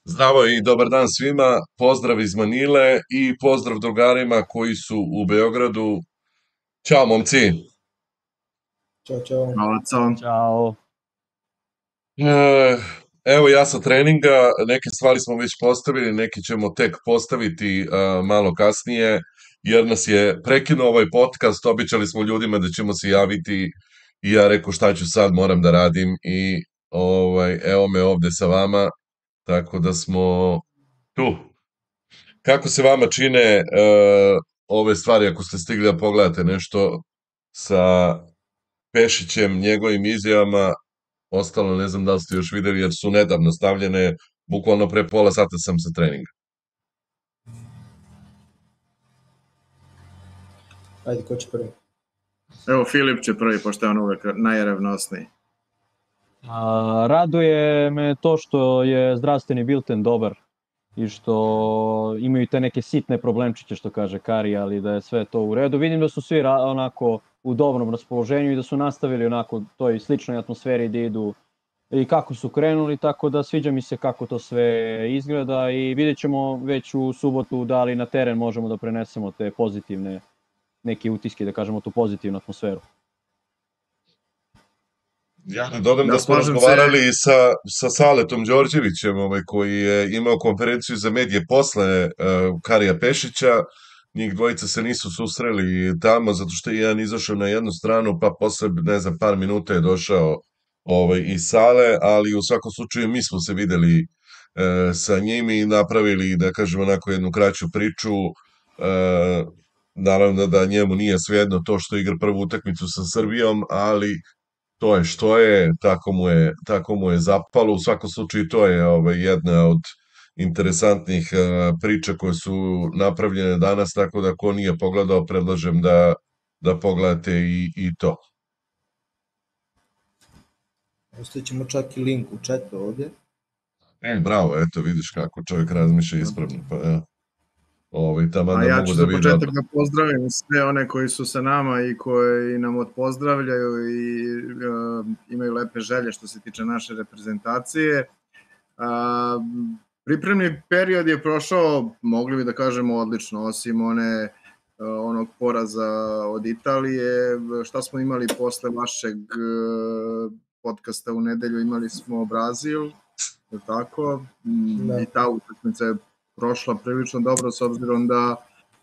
Zdravo i dobar dan svima, pozdrav iz Manile i pozdrav drugarima koji su u Beogradu. Ćao momci. Ćao, čao. Malaco. Ćao. E, Evo ja sa treninga, neke stvari smo već postavili, neke ćemo tek postaviti malo kasnije, jer nas je prekinuo ovaj podcast, običali smo ljudima da ćemo se javiti i ja rekao šta ću sad, moram da radim i evo me ovde sa vama, tako da smo tu. Kako se vama čine ove stvari, ako ste stigli da pogledate nešto sa Pešićem, njegovim izjavama, ostalo ne znam da li ste još videli, jer su nedavno stavljene, bukvalno pre pola sata sam sa treninga. Ajde, ko će prvi? Evo, Filip će prvi, pošto je on uvek najrevnosniji. Raduje me to što je zdravstveni bilten dobar i što imaju te neke sitne problemčiće, što kaže Kari, ali da je sve to u redu. Vidim da su svi onako u dobrom raspoloženju i da su nastavili onako toj sličnoj atmosferi da idu i kako su krenuli, tako da sviđa mi se kako to sve izgleda i vidjet ćemo već u subotu da li na teren možemo da prenesemo te pozitivne neke utiske, da kažemo tu pozitivnu atmosferu. Ja ne dodam da smo slažem razgovarali sa Saletom Đorđevićem, koji je imao konferenciju za medije posle Karija Pešića. Njih dvojica se nisu susreli tamo, zato što je jedan izašao na jednu stranu, pa posle, ne znam, par minuta je došao iz sale, ali u svakom slučaju mi smo se videli sa njim i napravili, da kažemo, onako jednu kraću priču. Naravno da njemu nije svejedno to što igra prvu utakmicu sa Srbijom, ali to je što je, tako mu je zapalo. U svakom slučaju to je jedna od interesantnih priča koje su napravljene danas, tako da ko nije pogledao, predlažem da pogledate i to. Ostavit ćemo čak i link u chatu ovdje. Bravo, eto vidiš kako čovjek razmišlja ispravno, pa ja. A ja ću za početak da pozdravim sve one koji su sa nama i koji nam odpozdravljaju i imaju lepe želje što se tiče naše reprezentacije. Pripremni period je prošao, mogli bi da kažemo, odlično, osim onog poraza od Italije. Šta smo imali posle vašeg podcasta u nedelju? Imali smo Brazil, tako? Da. I ta utakmica je prošla prilično dobro, s obzirom da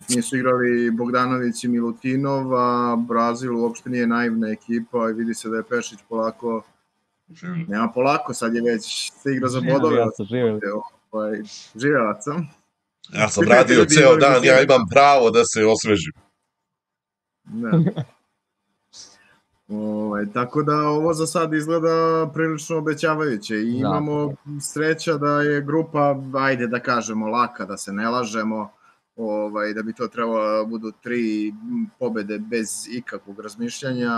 nisu igrali Bogdanović i Milutinov, a Brazil uopšte nije naivna ekipa i vidi se da je Pešić polako, nema polako, sad je već se igra za bodove. Živjelac sam. Ja sam radio ceo dan, ja imam pravo da se osvežim. Tako da ovo za sad izgleda prilično obećavajuće i imamo sreća da je grupa, ajde da kažemo, laka, da se ne lažemo, da bi to trebalo da budu 3 pobede bez ikakvog razmišljanja,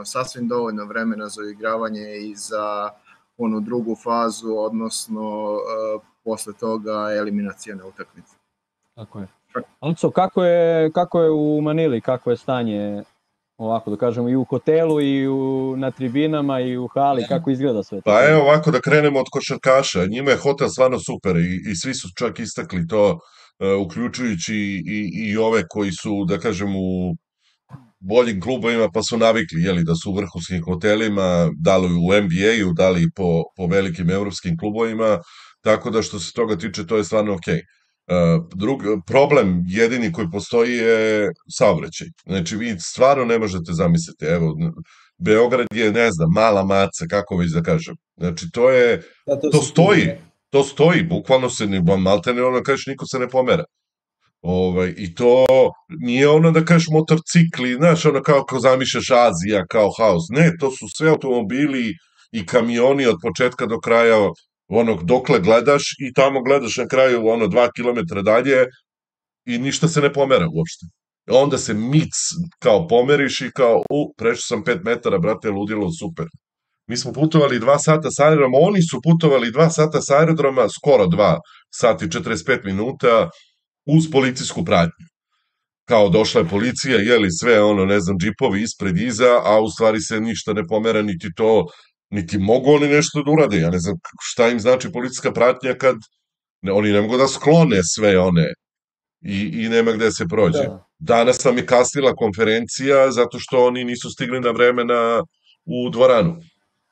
sasvim dovoljno vremena za igravanje i za onu drugu fazu, odnosno posle toga eliminacijone utakmice. Tako je. Alco, kako je u Manili, kako je stanje, ovako da kažemo, i u hotelu i na tribinama i u hali, kako izgleda sve to? Pa evo ovako da krenemo od košarkaša, njima je hotel stvarno super i svi su čak istakli to, uključujući i ove koji su, da kažem, u boljim klubovima pa su navikli, da su u vrhunskim hotelima, da li u NBA-u, da li po velikim evropskim klubovima, tako da što se toga tiče to je stvarno okej. Problem jedini koji postoji je saobraćaj. Znači vi stvarno ne možete zamisliti, evo, Beograd je, ne znam, mala maca, kako već da kažem. Znači to stoji, bukvalno se, maltene ono kažeš, niko se ne pomera. I to nije ono da kažeš motorcikli, znaš, ono kao zamišljaš Azija, kao haos. Ne, to su sve automobili i kamioni od početka do kraja, dokle gledaš i tamo gledaš na kraju 2 kilometra dalje i ništa se ne pomera uopšte. Onda se mic kao pomeriš i kao, prešao sam 5 metara, brate, ludilo, super. Mi smo putovali 2 sata sa aerodroma, oni su putovali 2 sata sa aerodroma, skoro 2 sati 45 minuta, uz policijsku pratnju. Kao došla je policija, sve ne znam, džipovi ispred iza, a u stvari se ništa ne pomera, niti to niti mogu oni nešto da urade. Ja ne znam šta im znači policijska pratnja kad oni ne mogu da sklone sve one i nema gde se prođe. Da. Danas nam je kasnila konferencija zato što oni nisu stigli na vreme u dvoranu.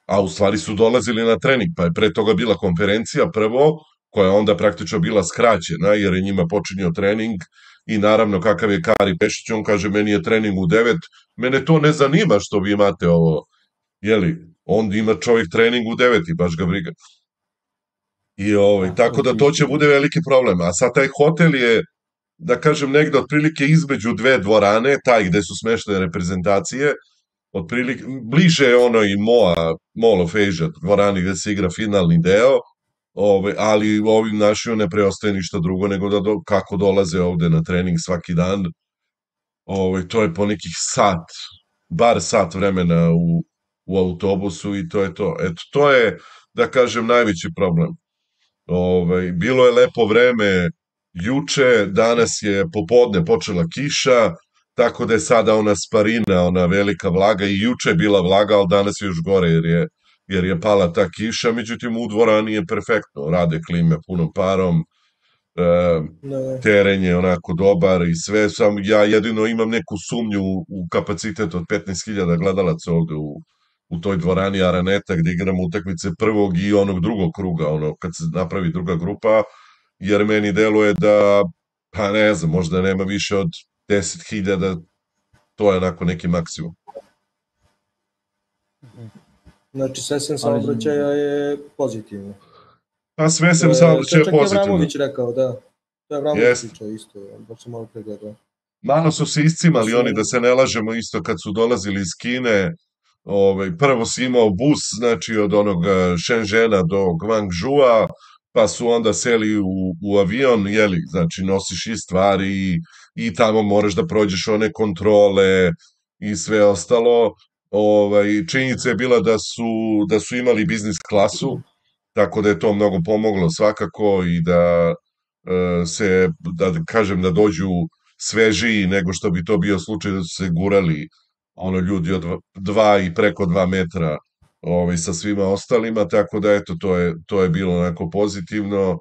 A u stvari su dolazili na trening, pa je pre toga bila konferencija prvo, koja je onda praktično bila skraćena, jer je njima počinio trening i naravno kakav je Kari Pešić, on kaže meni je trening u 9, mene to ne zanima što vi imate ovo, jeli, on ima čovjek trening u 9 i baš ga briga. I tako da to će bude veliki problem, a sad taj hotel je, da kažem, negde otprilike između dve dvorane, taj gde su smeštene reprezentacije, otprilike, bliže je ono i Mall of Asia, dvorani gde se igra finalni deo, ali ovim našima ne preostaje ništa drugo nego da kako dolaze ovde na trening svaki dan, to je po nekih bar sat vremena u autobusu i to je to. Eto, to je, da kažem, najveći problem. Bilo je lepo vreme juče, danas je popodne počela kiša, tako da je sada ona sparina, ona velika vlaga, i juče je bila vlaga, ali danas je još gore jer je pala ta kiša, međutim u dvorani je perfektno, rade klime punom parom, teren je onako dobar i sve, sam ja jedino imam neku sumnju u kapacitet od 15.000 gledalaca ovde u toj dvorani Araneta gde igramo utakmice prvog i onog drugog kruga, ono kad se napravi druga grupa, jer meni deluje da, pa ne znam, možda nema više od 10.000, to je onako neki maksimum. Znači, sve sem saobraćaja je pozitivno. Pa sve sem saobraćaja je pozitivno. Čak je Avramović rekao, da. To je Avramović pričao isto, baš sam malo pregledao. Malo su se iscimali oni, da se ne lažemo, isto kad su dolazili iz Kine, prvo si imao bus, znači od onog Shenzhena do Guangzhoua, pa su onda seli u avion, jeli, znači nosiš i stvari i tamo moraš da prođeš one kontrole i sve ostalo. Činjenica je bila da su imali biznis klasu, tako da je to mnogo pomoglo svakako i da kažem da dođu svežiji nego što bi to bio slučaj da su se gurali ljudi od 2 i preko 2 metra sa svima ostalima, tako da eto, to je bilo onako pozitivno,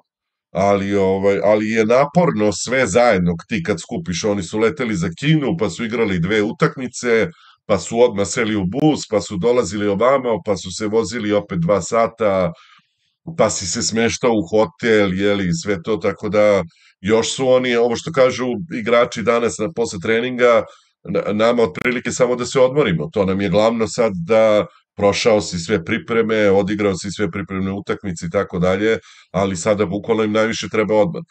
ali je naporno sve zajedno, ti kad skupiš, oni su leteli za Kinu, pa su igrali 2 utakmice, pa su odmah seli u bus, pa su dolazili ovamo, pa su se vozili opet 2 sata, pa si se smeštao u hotel, jeli, sve to, tako da još su oni, ovo što kažu igrači danas posle treninga, nama otprilike samo da se odmorimo, to nam je glavno sad da prošao si sve pripreme, odigrao si sve pripremne utakmice i tako dalje, ali sada bukvalno im najviše treba odmor.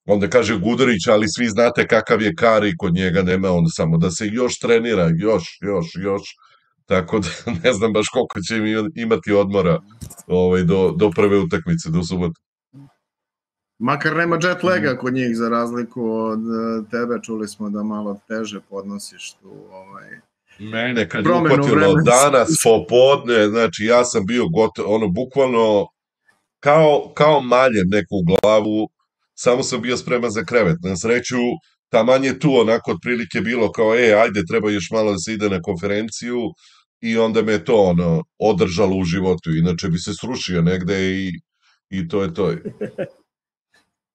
Onda kaže Gudurić, ali svi znate kakav je Kari, kod njega nema on samo da se još trenira, još, tako da ne znam baš koliko će imati odmora do prve utakmice, do subote. Makar nema jet laga kod njih, za razliku od tebe, čuli smo da malo teže podnosiš tu Mene kad je upatilo danas popodne, znači ja sam bio gotovo, bukvalno kao maljem neku u glavu, samo sam bio spreman za krevet. Na sreću, taman je tu onako otprilike bilo kao, ajde, treba još malo da se ide na konferenciju, i onda me to održalo u životu, inače bi se srušio negde i to je to.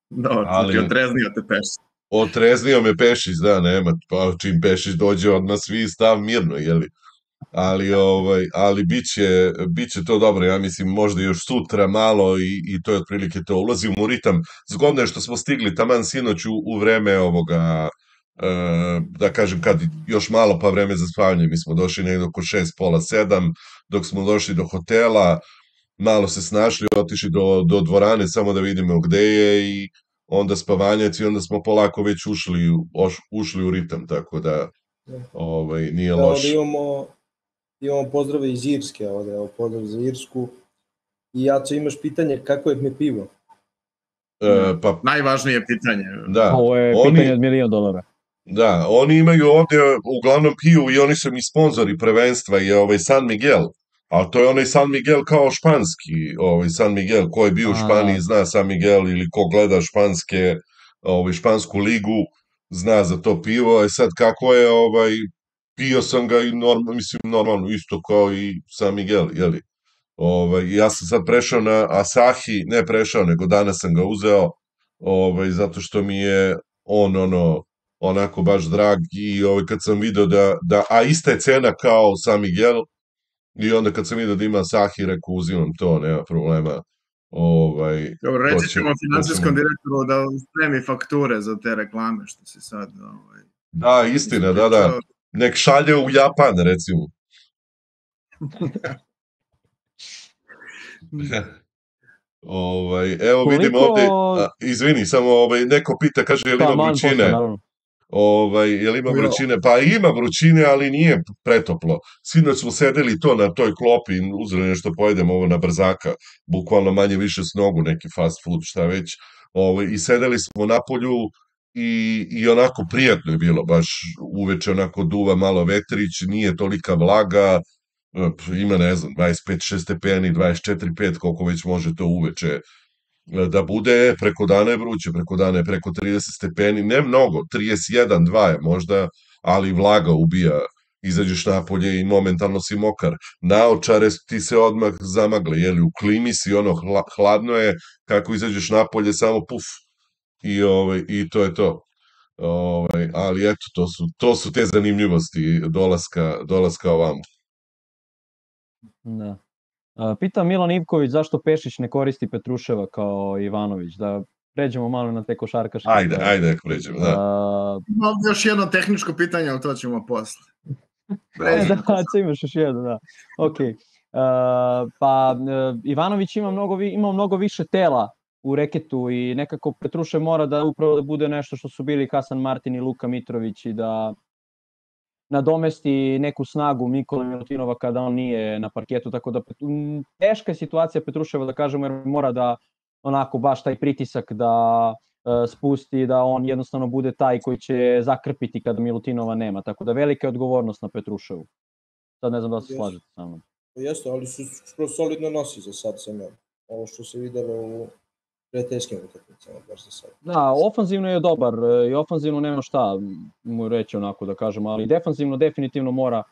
Da, ti otreznio te Pešić. Otreznio me Pešić, da, nema, pa čim Pešić dođe odmah svi stav mirno, jeli. Ali biće to dobro, ja mislim možda još sutra malo i to je otprilike to, ulazimo u ritam. Zgodno je što smo stigli taman sinoć u vreme ovoga, da kažem kad još malo pa vreme za spavanje, mi smo došli negdje oko 6, pola 7, dok smo došli do hotela, malo se snašli, otišli do dvorane samo da vidimo gde je i onda spavanjac i onda smo polako već ušli u ritam, tako da nije loše. Imamo pozdrave iz Irske, evo pozdrav za Irsku. I Jaco, imaš pitanje kako je mi pivo? Najvažnije pitanje. Da, ovo je pitanje od $1.000.000. Da, oni imaju ovde uglavnom piju i oni su mi sponzori prvenstva, je San Miguel, a to je onaj San Miguel kao španski, San Miguel, ko je bio u Španiji zna San Miguel ili ko gleda špansku ligu, zna za to pivo, a sad kako je, pio sam ga i normalno, isto kao i San Miguel, jeli? Ja sam sad prešao na Asahi, ne prešao, nego danas sam ga uzeo, zato što mi je on onako baš drag i kad sam video a ista je cena kao San Miguel, i onda kad sam vidio da ima Asahi, rekao uzimam to, nema problema. Dobro, to reći će- ćemo to finansijskom ćemo- direktoru da spremi fakture za te reklame što si sad Da, istina, da. ispričao. Nek šalje u Japan, recimo. Evo vidim Koliko- ovde, izvini, samo neko pita, kaže, je li ima Taman posle, vrućine? naravno. Je li ima vrućine? Pa ima vrućine, ali nije pretoplo. Sinoć smo sedeli to na toj klopi, uzeli nešto pojedemo ovo na brzaka, bukvalno manje više s nogu, neki fast food, šta već. I sedeli smo na polju i onako prijatno je bilo, baš uveče onako duva malo vetrić, nije tolika vlaga, ima ne znam, 25-6 stepeni, 24-5, koliko već može to uveče da bude, preko dana je vruće, preko dana je preko 30 stepeni, ne mnogo, 31-2 je možda, ali vlaga ubija, izađeš napolje i momentalno si mokar, naočare ti se odmah zamagle, jeli, u klimi si, hladno je, kako izađeš napolje, samo puf, i to je to. Ali eto, to su te zanimljivosti dolaska ovamo. Da. Pita Milan Ivković zašto Pešić ne koristi Petruševa kao Ivanović, da pređemo malo na te košarkaške. Ajde, ako pređemo, da. Imam još jedno tehničko pitanje, ali to ćemo posle. Imaš još jedno, da. Ok. Ivanović ima mnogo više tela u reketu i nekako Petrušev mora da upravo da bude nešto što su bili Hasan Martin i Luka Mitrović i da nadomesti neku snagu Nikole Milutinova kada on nije na parketu, tako da teška je situacija Petruševa, da kažemo, jer mora da onako baš taj pritisak da spusti, da on jednostavno bude taj koji će zakrpiti kada Milutinova nema, tako da velika je odgovornost na Petruševu. Sad ne znam da se slažete sa mnom. Jeste, ali su skoro solidno nosi za sad sa njom. Ovo što se videlo u prijateljskim utakmicama, baš za sad. Da, ofanzivno je dobar i ofanzivno nema šta mu reći onako da kažemo, ali defanzivno definitivno mora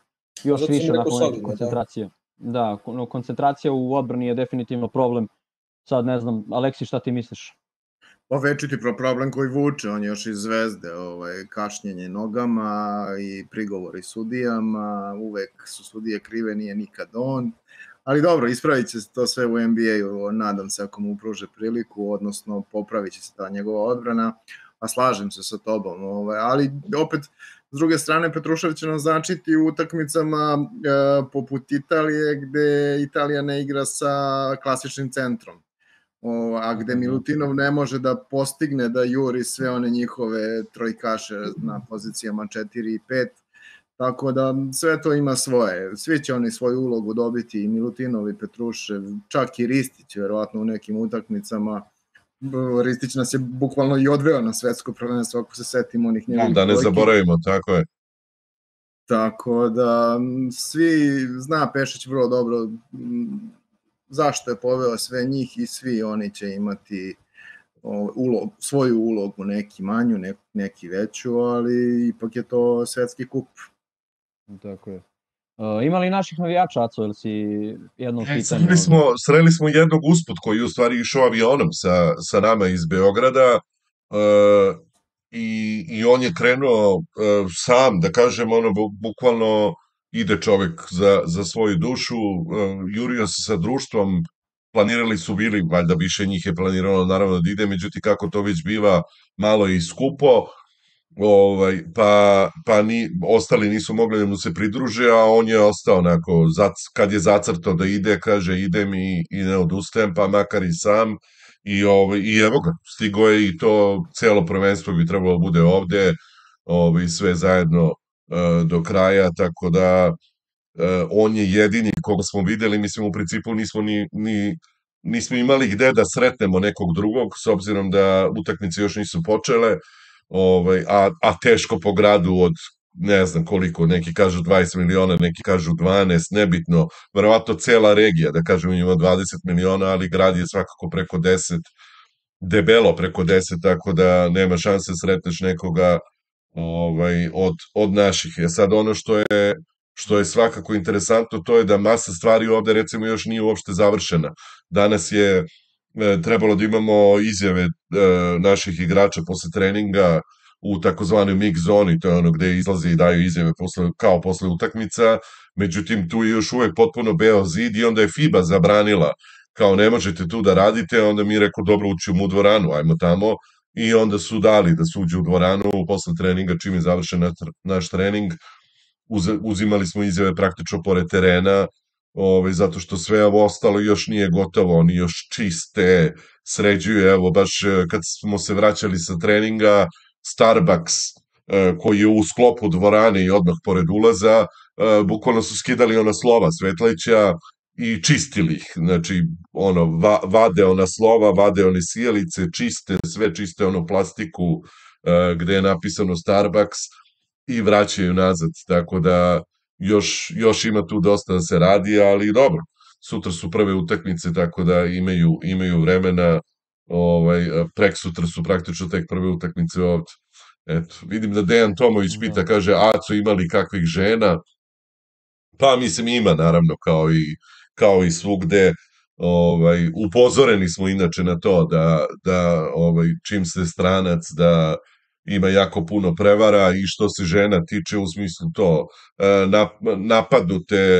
još Zato sam više rekao nakon solidno, koncentracije. Da, koncentracija u odbrani je definitivno problem. Sad ne znam, Aleksi, šta ti misliš? Pa večiti problem koji vuče, on je još iz Zvezde, kašnjenje nogama i prigovori sudijama, uvek su sudije krive, nije nikad on. Ali dobro, ispravit će se to sve u NBA-u, nadam se ako mu pruže priliku, odnosno popravit će se ta njegova odbrana, a slažem se sa tobom. Ali opet, s druge strane, Petrušev će nam značiti u utakmicama poput Italije, gde Italija ne igra sa klasičnim centrom, a gde Milutinov ne može da postigne da juri sve one njihove trojkaše na pozicijama 4 i 5, tako da sve to ima svoje. Svi će oni svoju ulogu dobiti, i Milutinov i Petrušev, čak i Ristić, verovatno u nekim utakmicama. Ristić nas je bukvalno i odveo na svetsko prvenstvo, ako se setimo onih njegovih Da ne trojki. zaboravimo, tako je. Tako da svi, zna Pešić vrlo dobro zašto je poveo sve njih i svi oni će imati svoju ulogu, neki manju, neki veću, ali ipak je to svetski kup. Tako je. Ima li naših navijača, Aco, ili si jedno pitanje? Sreli smo jednog usput koji je u stvari išao avionom sa nama iz Beograda i on je krenuo sam, da kažem, bukvalno ide čovek za svoju dušu, jurio se sa društvom, planirali su bili, valjda više njih je planiralo naravno da ide, međutim kako to već biva, malo je i skupo, ostali nisu mogli da mu se pridruže, a on je ostao onako, kad je zacrtao da ide, kaže idem i ne odustajem, pa makar i sam, i evo ga, stigo je i to celo prvenstvo bi trebalo da bude ovde, sve zajedno do kraja, tako da on je jedini koga smo videli, mislim u principu nismo imali gde da sretnemo nekog drugog, s obzirom da utakmice još nisu počele, a teško po gradu od ne znam koliko, neki kažu 20 miliona, neki kažu 12, nebitno, verovatno cela regija, da kažem ima 20 miliona, ali grad je svakako preko 10, debelo preko 10, tako da nema šanse sretneš nekoga od naših. Sad ono što je svakako interesantno, to je da masa stvari ovde recimo još nije uopšte završena. Danas je trebalo da imamo izjave naših igrača posle treninga u takozvanoj mix zoni, to je ono gde izlaze i daju izjave kao posle utakmica, međutim tu je još uvek potpuno beo zid i onda je FIBA zabranila kao ne možete tu da radite, onda mi je rekao dobro ućemo u dvoranu, ajmo tamo, i onda su dali da se uđe u dvoranu posle treninga, čim je završen naš trening, uzimali smo izjave praktično pored terena, zato što sve ovo ostalo još nije gotovo, oni još čiste, sređuju, evo baš kad smo se vraćali sa treninga, Starbucks koji je u sklopu dvorane i odmah pored ulaza, bukvalno su skidali ona slova svetleća i čistili ih, znači vade ona slova, vade one sijalice, čiste, sve čiste ono plastiku gde je napisano Starbucks i vraćaju nazad, tako da još ima tu dosta da se radi, ali dobro, sutra su prve utakmice, tako da imaju vremena, prek sutra su praktično tek prve utakmice ovde. Eto, vidim da Dejan Tomović pita, kaže, Aco ima li kakvih žena? Pa mislim ima, naravno, kao i svugde, upozoreni smo inače na to da čim se stranac da ima jako puno prevara i što se žena tiče u smislu to napadnute,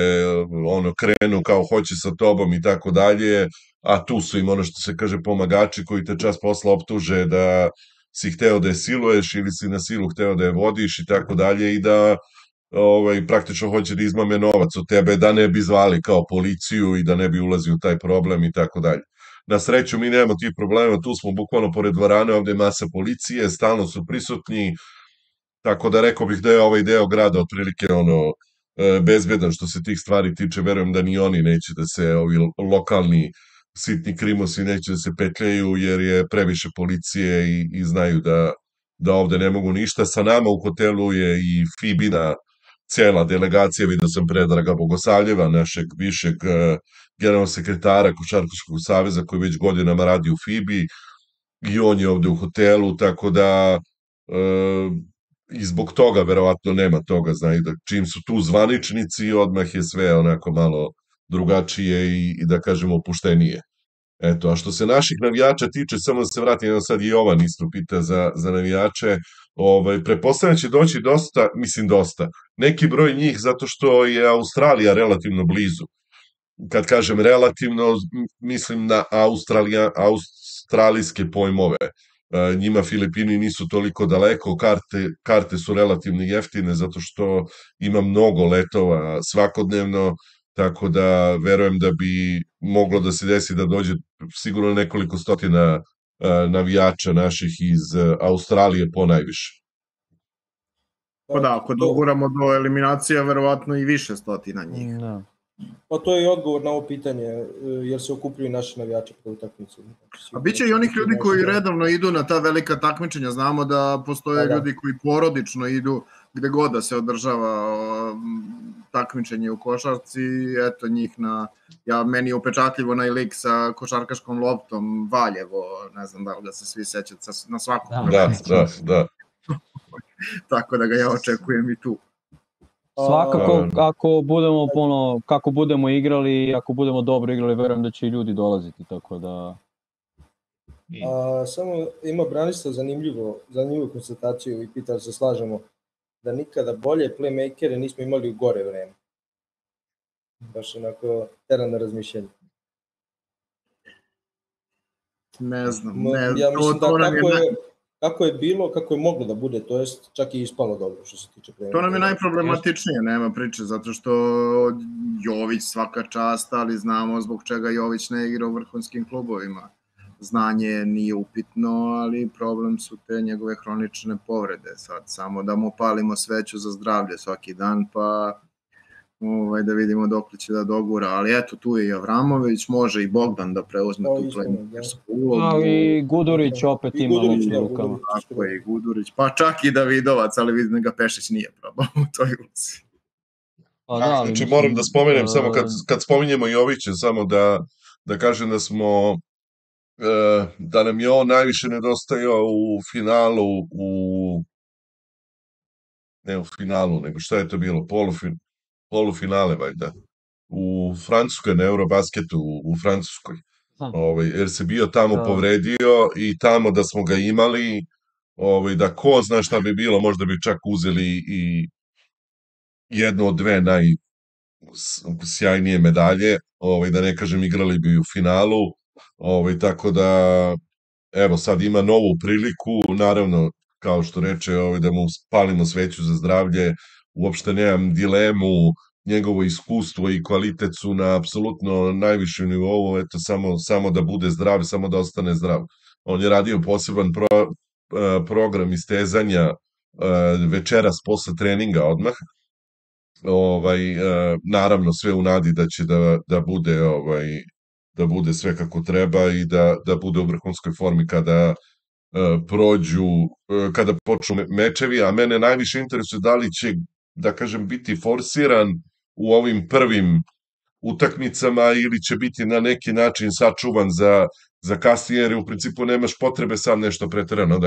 krenu kao hoće sa tobom i tako dalje, a tu su im ono što se kaže pomagači koji te čas posla optuže da si hteo da je siluješ ili si na silu hteo da je vodiš i tako dalje i da praktično hoće da izmame novac od tebe da ne bi zvali kao policiju i da ne bi ulazio u taj problem i tako dalje. Na sreću mi nemamo tih problema, tu smo bukvalno pored dvorane, ovde je masa policije, stalno su prisutni, tako da rekao bih da je ovaj deo grada otprilike bezbedan što se tih stvari tiče, verujem da ni oni neće da se, ovi lokalni sitni krimosi neće da se petljaju jer je previše policije i znaju da ovde ne mogu ništa. Sa nama u hotelu je i Fibina cela delegacija, vidio sam Predraga Bogosavljeva, našeg višeg generalnog sekretara Košarkaškog saveza koji već godinama radi u Fibi i on je ovde u hotelu, tako da i zbog toga verovatno nema toga, znaju da čim su tu zvaničnici odmah je sve onako malo drugačije i da kažemo opuštenije. Eto, a što se naših navijača tiče, samo da se vratim, evo sad i Jovan isto pita za navijače, pretpostavljam će doći dosta, neki broj njih zato što je Australija relativno blizu. Kad kažem relativno, mislim na australijske pojmove. Njima Filipini nisu toliko daleko, karte su relativno jeftine zato što ima mnogo letova svakodnevno, tako da verujem da bi moglo da se desi da dođe sigurno nekoliko stotina navijača naših iz Australije po najviše. Pa da, ako doguramo do eliminacija, verovatno i više stotina njih. Da. Pa to je i odgovor na ovo pitanje, jer se okupljuju naši navijači po utakmici. A bit će i onih ljudi koji redovno idu na ta velika takmičenja, znamo da postoje ljudi koji porodično idu gde god da se održava takmičenje u košarci, eto njih meni je upečatljivo onaj lik sa košarkaškom loptom Valjevo, ne znam da li ga se svi sećate, na svakom. Da. Tako da ga ja očekujem i tu. Svakako, kako budemo igrali, ako budemo dobro igrali, verujem da će i ljudi dolaziti, tako da... Samo ima Branislav zanimljivu konstataciju i pita da se slažemo da nikada bolje playmakere nismo imali u gore vreme. Baš onako tera na razmišljanje. Ne znam. Ja mislim da kako je bilo, kako je moglo da bude, to jest čak i ispalo dobro što se tiče playmakera. To nam je najproblematičnije, nema priče, zato što Jović svaka čast, ali znamo zbog čega Jović ne igra u vrhunskim klubovima. Znanje nije upitno, ali problem su te njegove hronične povrede. Sad samo da mu palimo sveću za zdravlje svaki dan, pa da vidimo dok će da dogura. Ali eto, tu je i Avramović, može i Bogdan da preuzme tu playmakersku ulogu. I Gudurić opet ima meč u rukama. Tako je, i Gudurić, pa čak i Davidovac, ali vidim da ga Pešić nije probao u toj ulici. Znači moram da spomenem, samo kad spominjemo Jovića, samo da kažem da nam je on najviše nedostajao u finalu, ne u finalu, nego šta je to bilo, polufinale, valjda, u Francuskoj, na Eurobasketu u Francuskoj. Jer se bio tamo povredio i tamo da smo ga imali, da ko zna šta bi bilo, možda bi čak uzeli i jednu od dve najsjajnije medalje, da ne kažem igrali bi u finalu, tako da evo sad ima novu priliku, naravno kao što reče, da mu spalimo sveću za zdravlje, uopšte nemam dilemu, njegovo iskustvo i kvalitet su na apsolutno najvišem nivou, eto samo da bude zdrav, samo da ostane zdrav. On je radio poseban program istezanja večeras posle treninga odmah, naravno sve u nadi da će da bude sve kako treba i da bude u vrhunskoj formi kada počnu mečevi, a mene najviše interesuje da li će, da kažem, biti forsiran u ovim prvim utakmicama ili će biti na neki način sačuvan za kasnije, jer u principu nemaš potrebe sam nešto preterano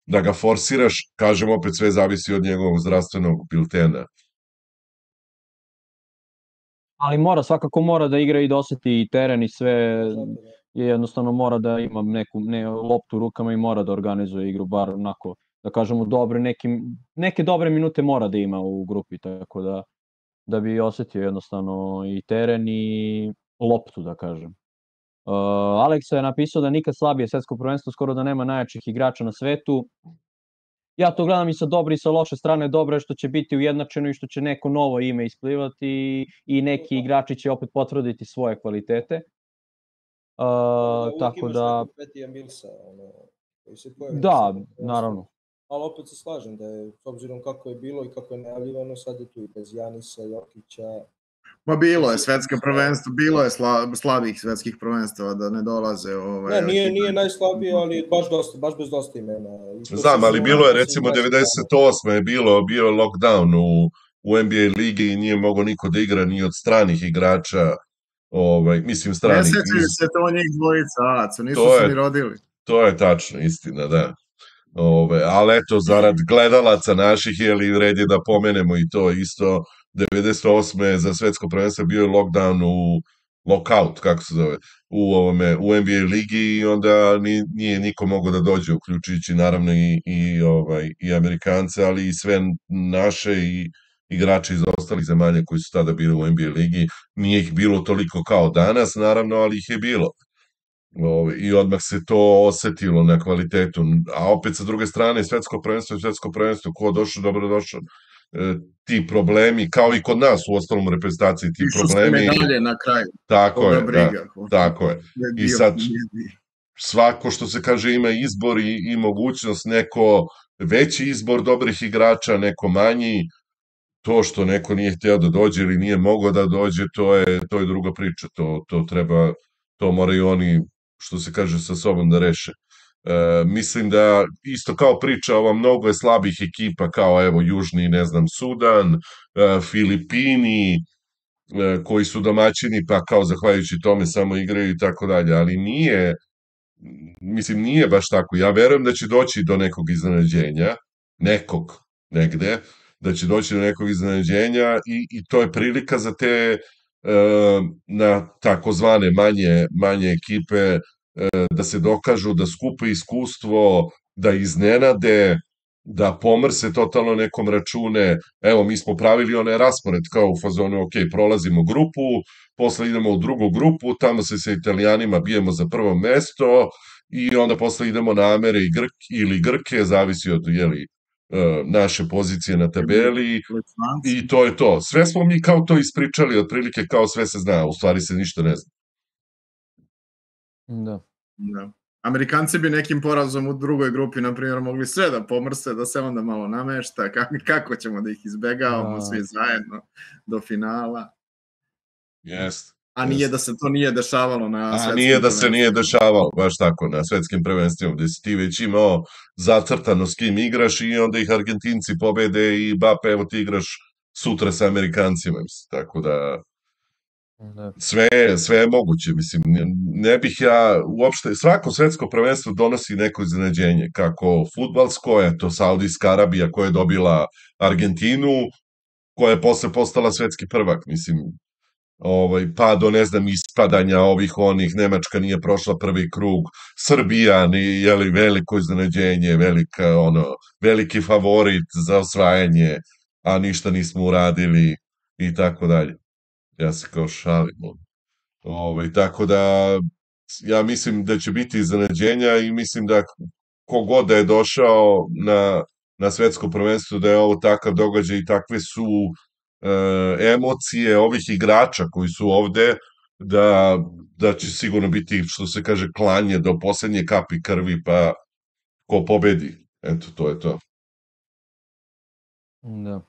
da ga forsiraš, kažem opet sve zavisi od njegovog zdravstvenog biltena. Ali svakako mora da igra i da oseti i teren i sve, jednostavno mora da ima neku loptu u rukama i mora da organizuje igru, bar onako, da kažemo, neke dobre minute mora da ima u grupi, tako da bi osetio jednostavno i teren i loptu, da kažem. Aleksa je napisao da nikad slabije svetsko prvenstvo, skoro da nema najjačih igrača na svetu. Ja to gledam i sa dobre i sa loše strane. Dobro je što će biti ujednačeno i što će neko novo ime isplivati i neki igrači će opet potvrditi svoje kvalitete. Tako da... Da, naravno. Ali opet se slažem da je, s obzirom kako je bilo i kako je najavljivano, sad je tu i bez Janisa, Jokića. Ma bilo je svetsko prvenstvo, bilo je slabih svetskih prvenstava da ne dolaze. Ne, nije najslabije, ali baš bez dosta imena. Znam, ali bilo je recimo 98. je bio lockdown u NBA ligi i nije mogo niko da igra ni od stranih igrača, mislim stranih. Ne sećaju se to njih dvojica, Aco, nisu se ni rodili. To je tačno, istina, da. Ali eto, zarad gledalaca naših, red je da pomenemo i to isto. 98. za svetsko prvenstvo bio je lockdown lockout, kako se zove, u NBA ligi i onda nije niko mogao da dođe, uključujući naravno i Amerikance, ali i sve naše i igrače iz ostalih zemalja koji su tada bili u NBA ligi. Nije ih bilo toliko kao danas, naravno, ali ih je bilo. I odmah se to osetilo na kvalitetu. A opet sa druge strane, svetsko prvenstvo, ko došao, dobro došao. Ti problemi, kao i kod nas u ostalom reprezentaciji, ti problemi... Išli su medalje na kraju. Tako je. I sad, svako što se kaže ima izbor i mogućnost, neko veći izbor dobrih igrača, neko manji, to što neko nije hteo da dođe ili nije mogao da dođe, to je druga priča, to moraju oni, što se kaže, sa sobom da reše. Mislim da isto kao priča ova mnogo je slabih ekipa kao evo Južni, ne znam, Sudan, Filipini koji su domaćini pa kao zahvaljujući tome samo igraju i tako dalje, ali nije baš tako. Ja verujem da će doći do nekog iznenađenja, negde, da će doći do nekog iznenađenja i to je prilika za te na takozvane manje ekipe da se dokažu, da skupe iskustvo, da iznenade, da pomrse totalno nekom račune. Evo, mi smo pravili onaj raspored kao u fazonu, ok, prolazimo grupu, posle idemo u drugu grupu, tamo se sa Italijanima bijemo za prvo mesto i onda posle idemo na Amere ili Grke, zavisi od naše pozicije na tabeli i to je to. Sve smo mi kao to ispričali, otprilike kao sve se zna, u stvari se ništa ne zna. Da. Amerikanci bi nekim porazom u drugoj grupi, na primjer, mogli sve da pomrse, da se onda malo namešta, kako ćemo da ih izbegavamo svi zajedno do finala. Jest. A nije da se to nije dešavalo na svetskim prvenstvima. Nije da se nije dešavalo, baš tako, na svetskim prvenstvima, gde si ti već imao zacrtano s kim igraš i onda ih Argentinci pobede i evo ti igraš sutra sa Amerikancima, mislim, tako da sve je moguće, mislim, ne bih ja uopšte, svako svetsko prvenstvo donosi neko iznenađenje, kako fudbalsko, to Saudijska Arabija koja je dobila Argentinu, koja je posle postala svetski prvak, mislim, pa do, ne znam, ispadanja ovih onih, Nemačka nije prošla prvi krug, Srbija, jeli, veliko iznenađenje, veliki favorit za osvajanje, a ništa nismo uradili i tako dalje. Ja se kao šalim. Tako da, ja mislim da će biti iznenađenja i mislim da kogod da je došao na svetsko prvenstvo, da je ovo takav događaj i takve su emocije ovih igrača koji su ovde, da će sigurno biti, što se kaže, klanje do poslednje kapi krvi, pa ko pobedi. Eto, to je to. Da.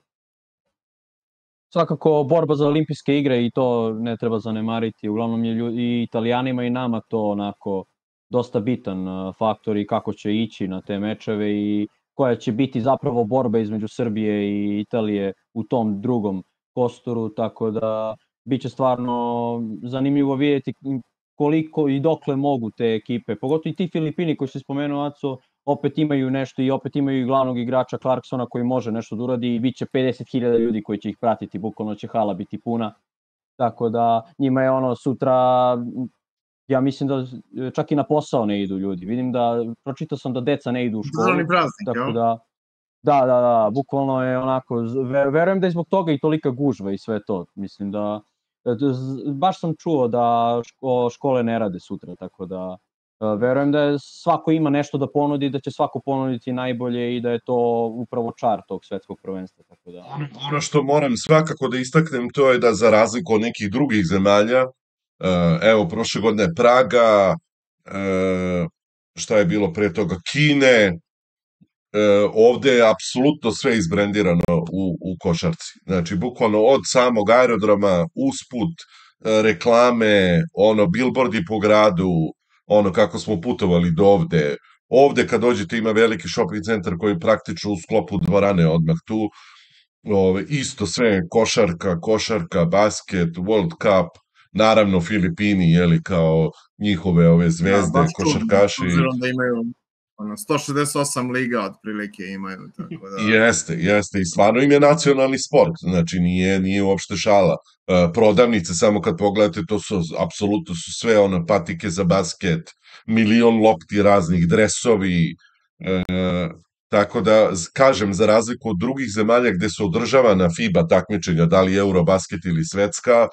Svakako borba za olimpijske igre i to ne treba zanemariti. Uglavnom je i Italijanima i nama to onako dosta bitan faktor i kako će ići na te mečeve i koja će biti zapravo borba između Srbije i Italije u tom drugom kostoru, tako da biće stvarno zanimljivo vidjeti koliko i dokle mogu te ekipe, pogotovo i ti Filipini koji se spomenuo, Aco, opet imaju nešto i opet imaju i glavnog igrača Clarksona koji može nešto da uradi i bit će 50.000 ljudi koji će ih pratiti, bukvalno će hala biti puna, tako da njima je sutra, ja mislim da čak i na posao ne idu ljudi, vidim da, pročitao sam da deca ne idu u školu, tako da, da, bukvalno je onako, verujem da je zbog toga i tolika gužva i sve to, mislim da, baš sam čuo da škole ne rade sutra, tako da verujem da svako ima nešto da ponudi, da će svako ponuditi najbolje i da je to upravo čar tog svetskog prvenstva, tako da. Ono što moram svakako da istaknem, to je da za razliku od nekih drugih zemalja, evo, prošle godine Praga, šta je bilo pre toga, Kine, ovde je apsolutno sve izbrendirano u košarci. Znači, bukvalno od samog aerodroma, usput, reklame, billboardi po gradu, kako smo putovali do ovde. Ovde kad dođete ima veliki shopping centar koji je praktično u sklopu dvorane odmah tu. Isto sve košarka, basket, World Cup, naravno Filipini, jeli, kao njihove ove zvezde, košarkaši. Obzirom da imaju 168 liga otprilike imaju, tako da. Jeste, i stvarno im je nacionalni sport, znači nije uopšte šala. Prodavnice, samo kad pogledate, to su, apsolutno su sve patike za basket, milion lopti raznih, dresovi, tako da, kažem, za razliku od drugih zemalja gde se održavana FIBA takmičenja, da li Eurobasket ili svetska,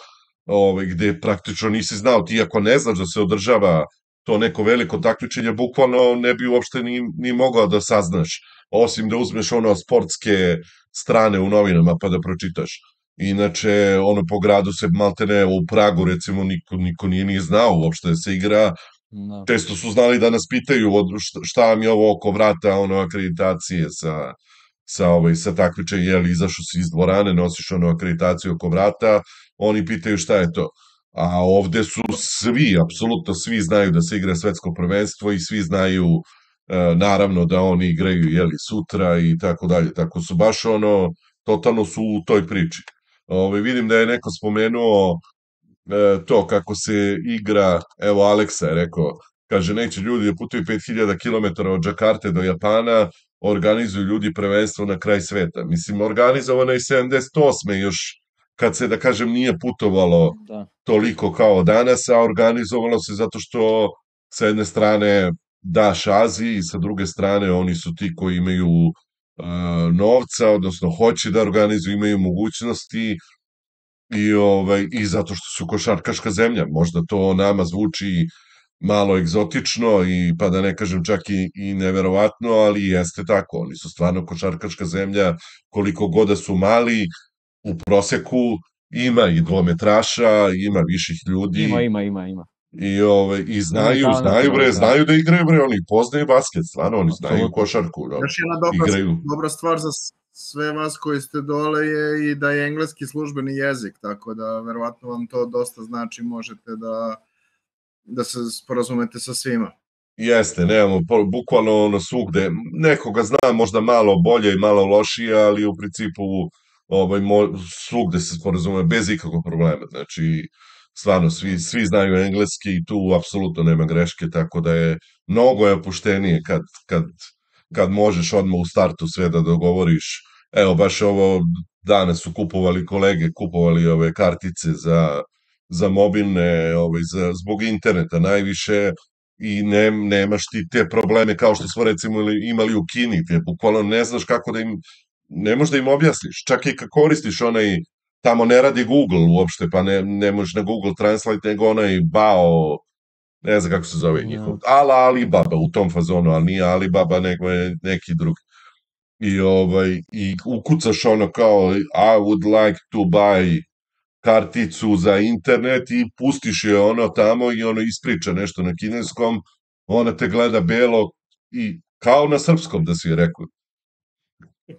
gde praktično nisi znao, ti ako ne znaš da se održava to neko veliko takmičenje, bukvalno ne bi uopšte ni mogao da saznaš, osim da uzmeš sportske strane u novinama pa da pročitaš. Inače, po gradu se maltene, u Pragu recimo niko nije ni znao uopšte da se igra, često su znali da nas pitaju šta vam je ovo oko vrata, akreditacije sa takmičenja, jeli, izašao si iz dvorane, nosiš akreditaciju oko vrata, oni pitaju šta je to. A ovde su svi, apsolutno svi znaju da se igra svetsko prvenstvo i svi znaju naravno da oni igraju, jeli, sutra i tako dalje. Tako su baš totalno su u toj priči. Vidim da je neko spomenuo to kako se igra, evo Aleksa je rekao, kaže neće ljudi da putuju 5000 km od Džakarte do Japana, organizuju ljudi prvenstvo na kraj sveta. Mislim, organizovano je 78. još kad se, da kažem, nije putovalo toliko kao danas, a organizovalo se zato što sa jedne strane daš Aziji i sa druge strane oni su ti koji imaju novca, odnosno hoće da organizuju, imaju mogućnosti i zato što su košarkaška zemlja. Možda to nama zvuči malo egzotično i pa da ne kažem čak i neverovatno, ali jeste tako. Oni su stvarno košarkaška zemlja, koliko god da su mali, u proseku ima i dvometraša, ima viših ljudi. Ima. I znaju da igraju, oni poznaju basket, stvarno, oni znaju košarku. Još jedna dobra stvar za sve vas koji ste dole je i da je engleski službeni jezik, tako da verovatno vam to dosta znači, možete da se sporazumete sa svima. Jeste, nemamo, bukvalno svugde, nekoga zna možda malo bolje i malo lošije, ali u principu svugde se sporazume bez ikakvog problema, znači stvarno svi znaju engleski i tu apsolutno nema greške, tako da je mnogo opuštenije kad možeš odmah u startu sve da dogovoriš. Evo, baš ovo danas su kupovali ove kartice za mobilne, zbog interneta najviše, i nemaš ti te probleme kao što smo recimo imali u Kini, gde bukvalno ne znaš kako da im, ne možeš da im objasniš, čak i kad koristiš onaj, tamo ne radi Google uopšte, pa ne možeš na Google Translate, nego onaj bao, ne znam kako se zove njihov, Alibaba u tom fazonu, ali nije Alibaba, nego je neki drugi. I ukucaš ono kao I would like to buy karticu za internet i pustiš je ono tamo i ono ispriča nešto na kineskom, ona te gleda belo i kao na srpskom da si je rekao.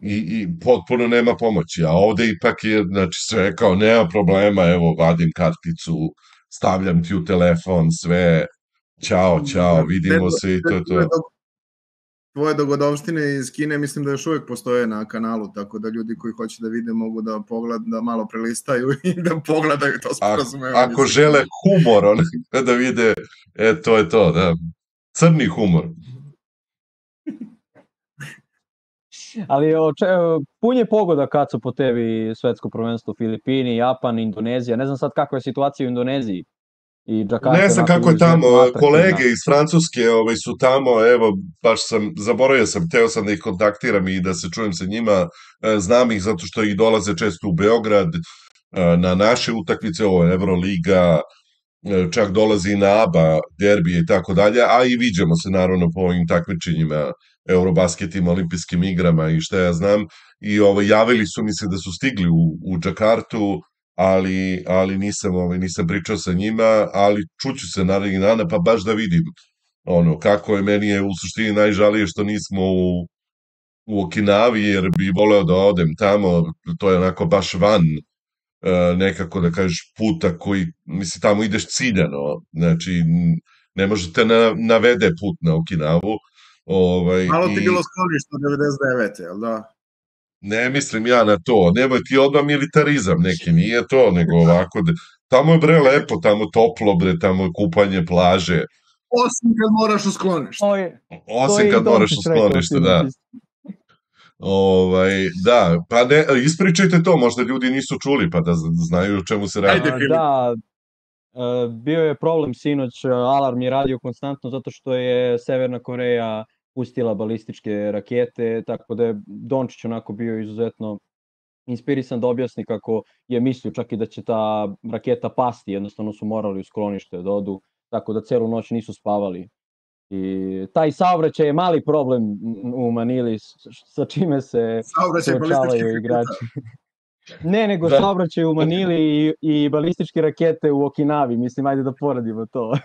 I potpuno nema pomoći, a ovde ipak je, znači sve kao nema problema, evo vadim karticu, stavljam ti u telefon, sve, ćao, vidimo se i to je to. Tvoje dogodovštine iz Kine mislim da još uvijek postoje na kanalu, tako da ljudi koji hoće da vide mogu da da malo prelistaju i da pogledaju to sporazumevanje. Ako žele humor, da vide, to je to, da. Crni humor. Ali pun je pogoda kad su po tebi svetsko prvenstvo Filipini, Japan, Indonezija. Ne znam sad kakva je situacija u Indoneziji. Ne znam kako je tamo, kolege iz Francuske su tamo, evo, baš zaboravio sam, teo sam da ih kontaktiram i da se čujem sa njima, znam ih zato što ih dolaze često u Beograd, na naše utakmice, ovo je Euroliga, čak dolazi i na ABA, derbije i tako dalje, a i viđamo se naravno po ovim takmičenjima, Eurobasketima, olimpijskim igrama i šta ja znam, i javili su mi se da su stigli u Džakartu, ali nisam pričao sa njima, ali čuću se narednih dana, pa baš da vidim kako je. Meni je u suštini najžalije što nismo u Okinavi, jer bi voleo da odem tamo, to je onako baš van nekako da kažeš puta koji, misli, tamo ideš ciljano, znači ne možete navede put na Okinavu. Malo ti bilo sklonište od 99. jel da? Ne mislim ja na to, nemoj ti odmah militarizam neki, nije to, nego ovako, tamo je bre lepo, tamo toplo bre, tamo je kupanje plaže. Osim kad moraš u sklonište. Osim kad moraš u sklonište, da. Da, pa ne, ispričajte to, možda ljudi nisu čuli, pa da znaju o čemu se radi. Da, bio je problem sinoć, alarm je radio konstantno zato što je Severna Koreja pustila balističke rakete, tako da je Dončić onako bio izuzetno inspirisan da objasni kako je mislio čak i da će ta raketa pasti, jednostavno su morali u sklonište da odu, tako da celu noć nisu spavali. I taj saobraćaj je mali problem u Manili, sa čime se suočavaju igrači. Ne, nego saobraćaj u Manili i balističke rakete u Okinavi, mislim, ajde da poredimo to.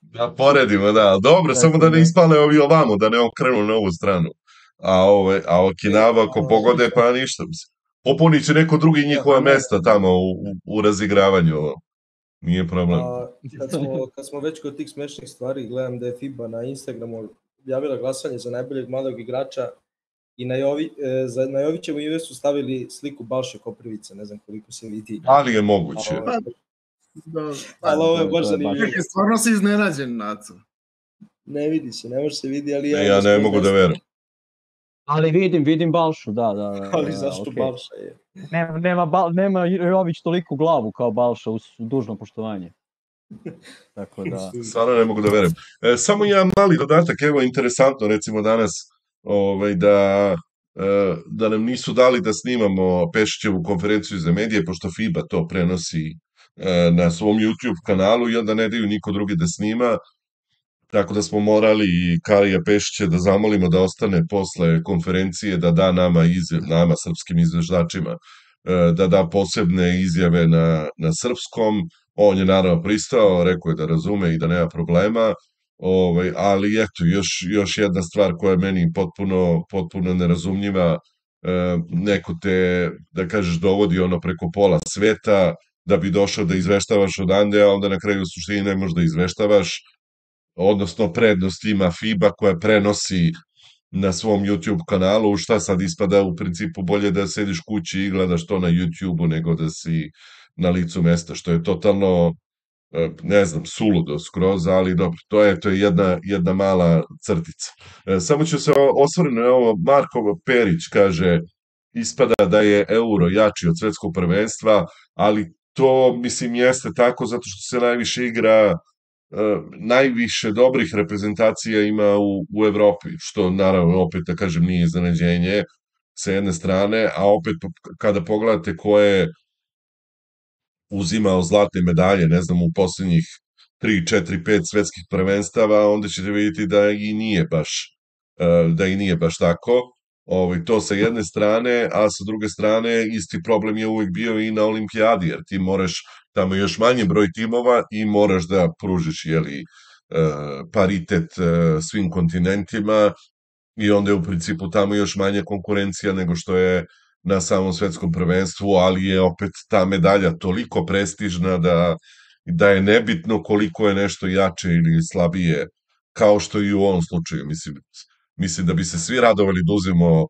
Da poredimo, da. Dobro, samo da ne ispale ovi ovamo, da ne okrenu na ovu stranu. A Okinawa, ako pogode, pa ništa. Popunit će neko drugi njihova mesta tamo u razigravanju. Nije problem. Kad smo već kod tih smešnih stvari, gledam da je FIBA na Instagramu objavila glasanje za najboljeg mladog igrača i na Jovićevu ime su stavili sliku Balše Koprivice, ne znam koliko se vidi. Ali je moguće. Ali ovo je baš zanimljivo. Stvarno si iznenađen, Naco. Ne vidi se, ne može se vidi, ali... Ja ne mogu da verujem. Ali vidim Balšu, da. Ali zašto Balša je? Nema Jović toliku glavu kao Balša, uz dužno poštovanje. Tako da... Stvarno ne mogu da verujem. Samo jedan mali dodatak, evo interesantno, recimo danas, da nam nisu dali da snimamo Pešićevu konferenciju za medije, pošto FIBA to prenosi na svom YouTube kanalu i onda ne daju niko drugi da snima, tako da smo morali i Karija Pešića da zamolimo da ostane posle konferencije, da da nama srpskim izveždačima, da da posebne izjave na srpskom. On je naravno pristao, rekao je da razume i da nema problema, ali eto, još jedna stvar koja je meni potpuno nerazumljiva, neko te, da kažeš, dovodi preko pola sveta, da bi došao da izveštavaš odande, a onda na kraju u suštini ne možeš da izveštavaš, odnosno prednost ima FIBA koja prenosi na svom YouTube kanalu, šta sad ispada u principu bolje da sediš kući i gledaš to na YouTubeu nego da si na licu mesta, što je totalno, ne znam, suludo skroz, ali dobro, to je jedna mala crtica. Samo ću se osvrnuti na ovo, Marko Perić kaže, ispada da je euro jači od svetskog prvenstva, ali to, mislim, jeste tako zato što se najviše igra, najviše dobrih reprezentacija ima u Evropi, što naravno opet da kažem nije iznenađenje sa jedne strane, a opet kada pogledate ko je uzimao zlatne medalje, ne znam, u poslednjih 3, 4, 5 svetskih prvenstava, onda ćete vidjeti da i nije baš tako. To sa jedne strane, a sa druge strane isti problem je uvek bio i na olimpijadi, jer ti moraš, tamo je još manji broj timova i moraš da pružiš paritet svim kontinentima i onda je u principu tamo još manja konkurencija nego što je na samom svetskom prvenstvu, ali je opet ta medalja toliko prestižna da je nebitno koliko je nešto jače ili slabije, kao što i u ovom slučaju. Mislim da bi se svi radovali da uzmemo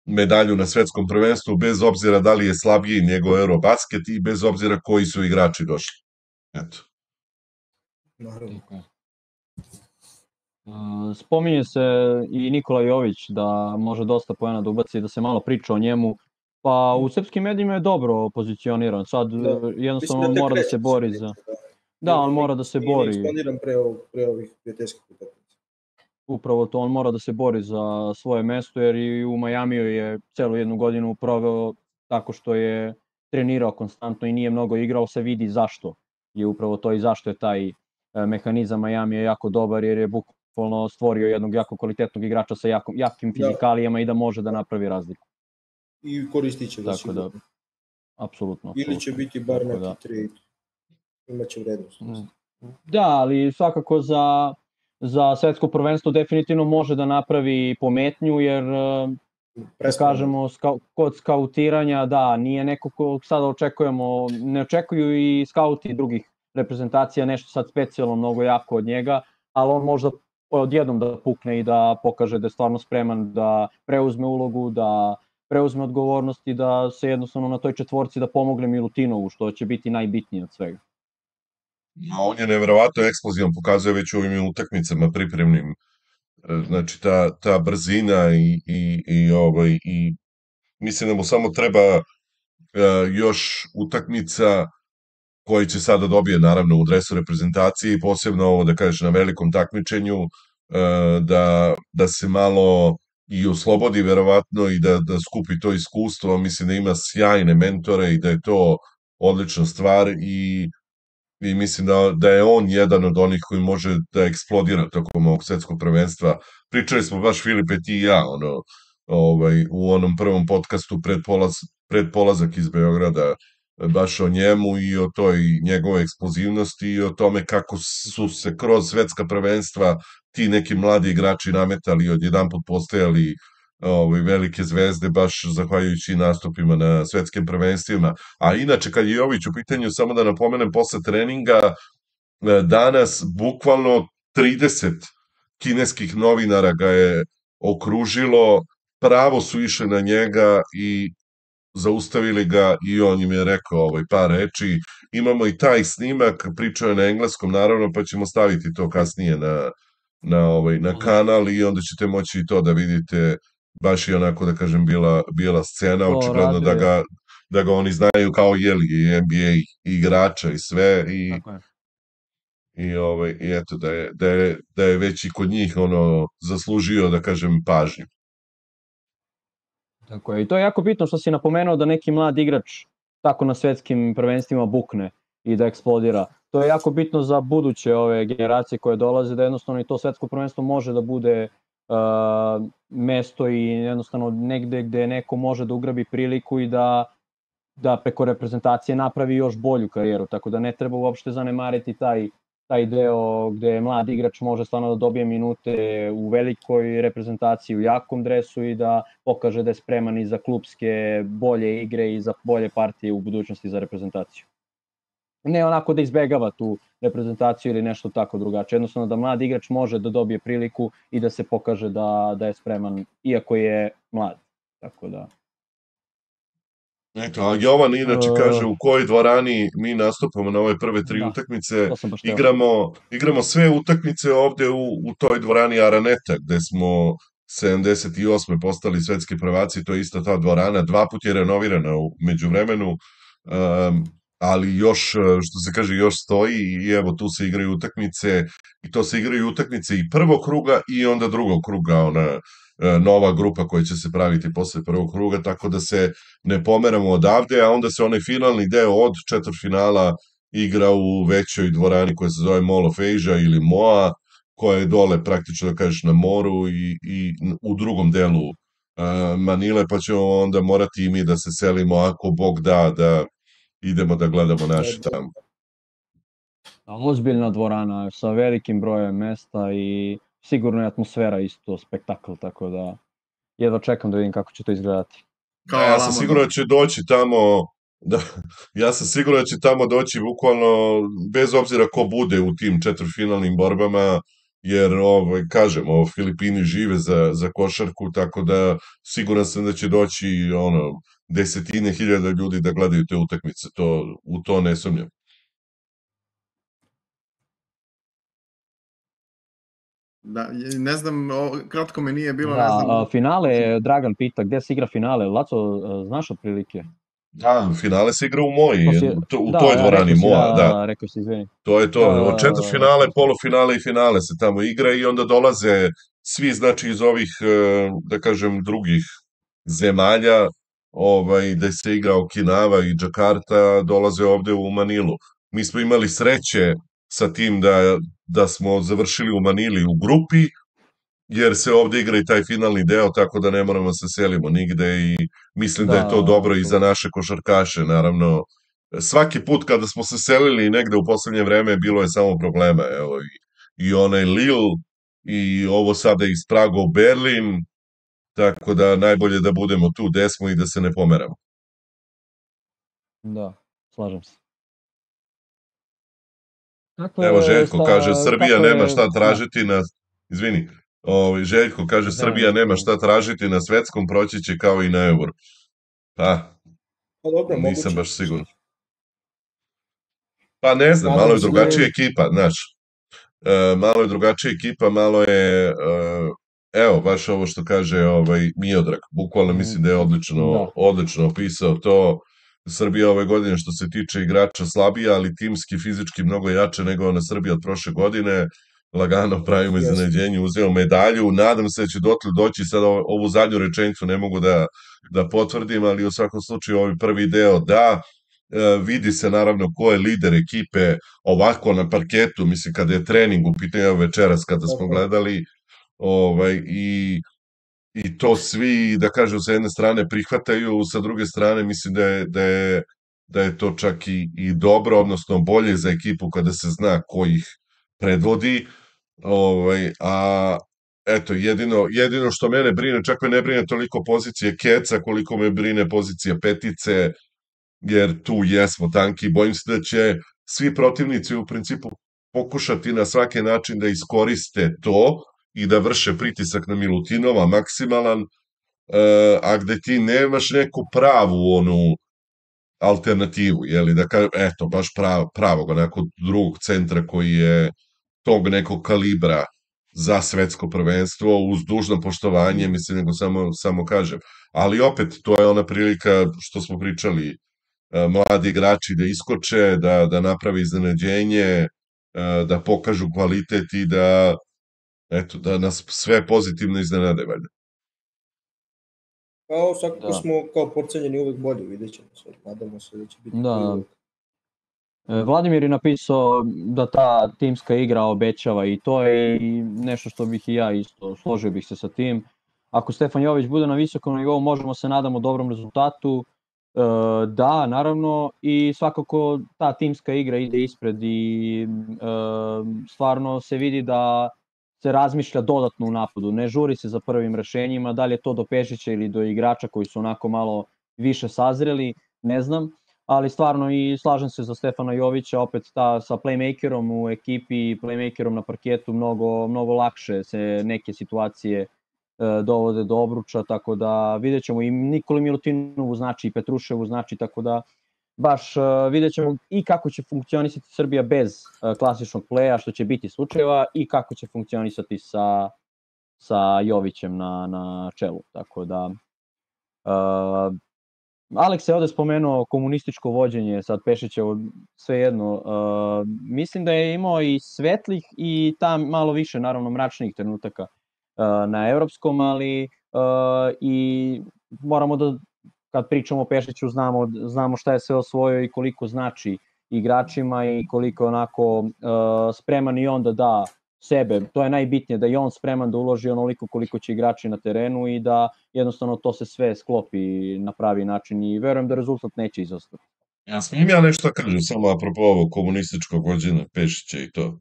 medalju na svetskom prvenstvu, bez obzira da li je slabiji nego Eurobasket i bez obzira koji su igrači došli. Eto. Naravno. Spominje se i Nikola Jović da može dosta poena da ubaci, da se malo priča o njemu. Pa u srpskim medijima je dobro pozicioniran. Sad jednostavno on mora da se bori za... Da, on mora da se bori. Nije eksponiran pre ovih prijateljskih utakmica. Upravo to, on mora da se bori za svoje mesto, jer i u Majamiju je celu jednu godinu proveo tako što je trenirao konstantno i nije mnogo igrao, se vidi zašto je upravo to i zašto je taj mehanizam Majamija jako dobar, jer je bukvalno stvorio jednog jako kvalitetnog igrača sa jakim fizikalijama i da može da napravi razliku. I koristit će ga sigurno. Tako da, apsolutno. Ili će biti bar neki trade, imaće vrednost. Da, ali svakako za svetsko prvenstvo definitivno može da napravi pometnju, jer da kažemo kod skautiranja, da, nije neko ko sada očekujemo, ne očekuju i skauti drugih reprezentacija nešto sad specijalno mnogo jako od njega, ali on možda odjednom da pukne i da pokaže da je stvarno spreman da preuzme ulogu, da preuzme odgovornost i da se jednostavno na toj četvorci da pomogne Milutinovu, što će biti najbitnije od svega. A on je neverovatno eksplozivan, pokazuje već u ovim utakmicama pripremnim. Znači ta brzina i mislim da mu samo treba još utakmica koji će sada dobije naravno u dresu reprezentacije i posebno ovo da kažeš na velikom takmičenju, da se malo i oslobodi verovatno i da skupi to iskustvo. Mislim da ima sjajne mentore i da je to odlična stvar i mislim da je on jedan od onih koji može da eksplodira tokom ovog svetskog prvenstva. Pričali smo baš Filipe ti i ja u onom prvom podcastu pred polazak iz Beograda baš o njemu i o toj njegove eksplozivnosti i o tome kako su se kroz svetska prvenstva ti neki mladi igrači nametali i odjedanput postajali velike zvezde baš zahvaljujući nastupima na svetskim prvenstvima. A inače, kad je Jović u pitanju, samo da napomenem, posle treninga danas bukvalno 30 kineskih novinara ga je okružilo, pravo su išli na njega i zaustavili ga i on im je rekao par reči. Imamo i taj snimak, pričao je na engleskom naravno, pa ćemo staviti to kasnije na kanal i onda ćete moći i to da vidite. Baš je onako, da kažem, bila scena, očigledno da ga oni znaju kao NBA igrača i sve i eto da je već i kod njih zaslužio, da kažem, pažnju. Tako je, i to je jako bitno što si napomenuo da neki mlad igrač tako na svetskim prvenstvima bukne i da eksplodira. To je jako bitno za buduće ove generacije koje dolaze, da jednostavno i to svetsko prvenstvo može da bude mesto i jednostavno negde gde neko može da ugrabi priliku i da preko reprezentacije napravi još bolju karijeru, tako da ne treba uopšte zanemariti taj deo gde mlad igrač može stvarno da dobije minute u velikoj reprezentaciji, u jakom dresu i da pokaže da je spreman i za klupske bolje igre i za bolje partije u budućnosti za reprezentaciju. Ne onako da izbegava tu reprezentaciju ili nešto tako drugačije. Jednostavno da mlad igrač može da dobije priliku i da se pokaže da je spreman, iako je mlad. Tako da... Eto, a Jovan inače kaže u kojoj dvorani mi nastupamo na ove prve 3 utakmice. Igramo sve utakmice ovde u toj dvorani Araneta, gde smo 78. postali svetski prvaci, to je ista ta dvorana, 2 puta je renovirana u međuvremenu, ali još, što se kaže, još stoji i evo tu se igraju utakmice i to se igraju utakmice i prvog kruga i onda drugog kruga, ona nova grupa koja će se praviti posle prvog kruga, tako da se ne pomeramo odavde, a onda se onaj finalni deo od četvrtfinala igra u većoj dvorani koja se zove Mall of Asia ili MOA, koja je dole praktično da kažeš na moru i u drugom delu Manile, pa ćemo onda morati i mi da se selimo ako Bog da idemo da gledamo naše tamo. Ozbiljna dvorana sa velikim brojem mesta i sigurno je atmosfera isto spektakl, tako da jedva čekam da vidim kako će to izgledati. Ja sam siguran da će doći tamo, ja sam siguran da će tamo doći bukvalno bez obzira ko bude u tim četvrtfinalnim borbama, jer kažem, Filipini žive za košarku, tako da siguran sam da će doći desetine hiljada ljudi da gledaju te utakmice, u to ne sumnjam. Da, ne znam, kratko me nije bilo, da, ne znam. Finale, Dragan pita, gde se igra finale? Laco, znaš otprilike? Da, finale se igra u Moji, u toj dvorani Moa, da. Rekao si, izvini. To je to, od četvrtfinale, polufinale i finale se tamo igra i onda dolaze svi, znači, iz ovih, da kažem, drugih zemalja, da se igra Okinawa i Džakarta, dolaze ovde u Manilu. Mi smo imali sreće sa tim da smo završili u Manili u grupi, jer se ovde igra i taj finalni deo, tako da ne moramo se selimo nigde i mislim da je to dobro i za naše košarkaše, naravno. Svaki put kada smo se selili negde u poslednje vreme bilo je samo problema, evo, i onaj Lille i ovo sada iz Praga u Berlin, tako da najbolje da budemo tu gde smo i da se ne pomeramo. Da, slažem se. Evo Željko kaže, Srbija nema šta tražiti na... Izvini, Željko kaže, Srbija nema šta tražiti na svetskom, proći će kao i na Euro. Pa, nisam baš siguran. Pa ne znam, malo je drugačija ekipa, znaš. Malo je drugačija ekipa, malo je... Evo, baš ovo što kaže Miodrag, bukvalno mislim da je odlično opisao to. Srbija ove godine što se tiče igrača slabija, ali timski, fizički mnogo jače nego ona Srbija od prošle godine. Lagano pravimo iznenađenje, uzeo medalju. Nadam se da će doći, sad ovu zadnju rečenicu ne mogu da potvrdim, ali u svakom slučaju ovaj prvi deo da. Vidi se naravno ko je lider ekipe ovako na parketu, mislim kada je trening u pitanju večeras kada smo gledali, i to svi, da kažem, sa jedne strane prihvataju, sa druge strane mislim da je to čak i dobro, odnosno bolje za ekipu kada se zna ko ih predvodi, a eto, jedino što mene brine, čak me ne brine toliko pozicije Keca, koliko me brine pozicija petice, jer tu jesmo tanki, bojim se da će svi protivnici u principu pokušati na svaki način da iskoriste to i da vrše pritisak na Milutinova maksimalan, a gde ti nemaš neku pravu alternativu, jeli, da kažem, eto, baš pravog, onako drugog centra koji je tog nekog kalibra za svetsko prvenstvo, uz dužno poštovanje, mislim, nego samo kažem. Ali opet, to je ona prilika što smo pričali, mladi igrači da iskoče, da naprave iznenađenje, da pokažu kvalitet i da nas sve pozitivno iznenade, valjda. Kao svakako smo kao porcenjeni uvek bolji, vidjet ćemo se, nadamo se da će biti uvek. Vladimir je napisao da ta timska igra obećava i to je nešto što bih i ja isto složio bih se sa tim. Ako Stefan Jović bude na visokom nivou, možemo se nadamo dobrom rezultatu. Da, naravno, i svakako ta timska igra ide ispred i stvarno se vidi da se razmišlja dodatno u napadu, ne žuri se za prvim rešenjima, da li je to do Pešića ili do igrača koji su onako malo više sazreli, ne znam, ali stvarno i slažem se za Stefana Jovića, opet sa playmakerom u ekipi, playmakerom na parketu, mnogo lakše se neke situacije dovode do obruča, tako da vidjet ćemo i Nikoli Milutinovu znači i Petruševu znači, tako da baš vidjet ćemo i kako će funkcionisati Srbija bez klasičnog pleja, što će biti slučajeva, i kako će funkcionisati sa Jovićem na čelu. Tako da, Aleks je ovde spomenuo komunističko vođenje, sad Pešićevo, svejedno. Mislim da je imao i svetlih i tam malo više, naravno, mračnijih trenutaka na evropskom, ali i moramo da, kad pričamo o Pešiću, znamo šta je sve osvojio i koliko znači igračima i koliko onako spreman i on da sebe. To je najbitnije, da je on spreman da uloži onoliko koliko će igrači na terenu i da jednostavno to se sve sklopi na pravi način i verujem da rezultat neće izostati. Ja smijem ja nešto kažem, samo apropo ovog komunističkog vođenja Pešića i to.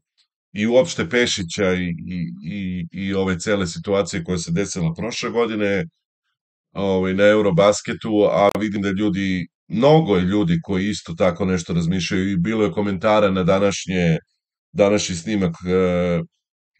I uopšte Pešića i ove cele situacije koja se desila prošle godine na Eurobasketu, a vidim da ljudi, mnogo je ljudi koji isto tako nešto razmišljaju i bilo je komentara na današnji snimak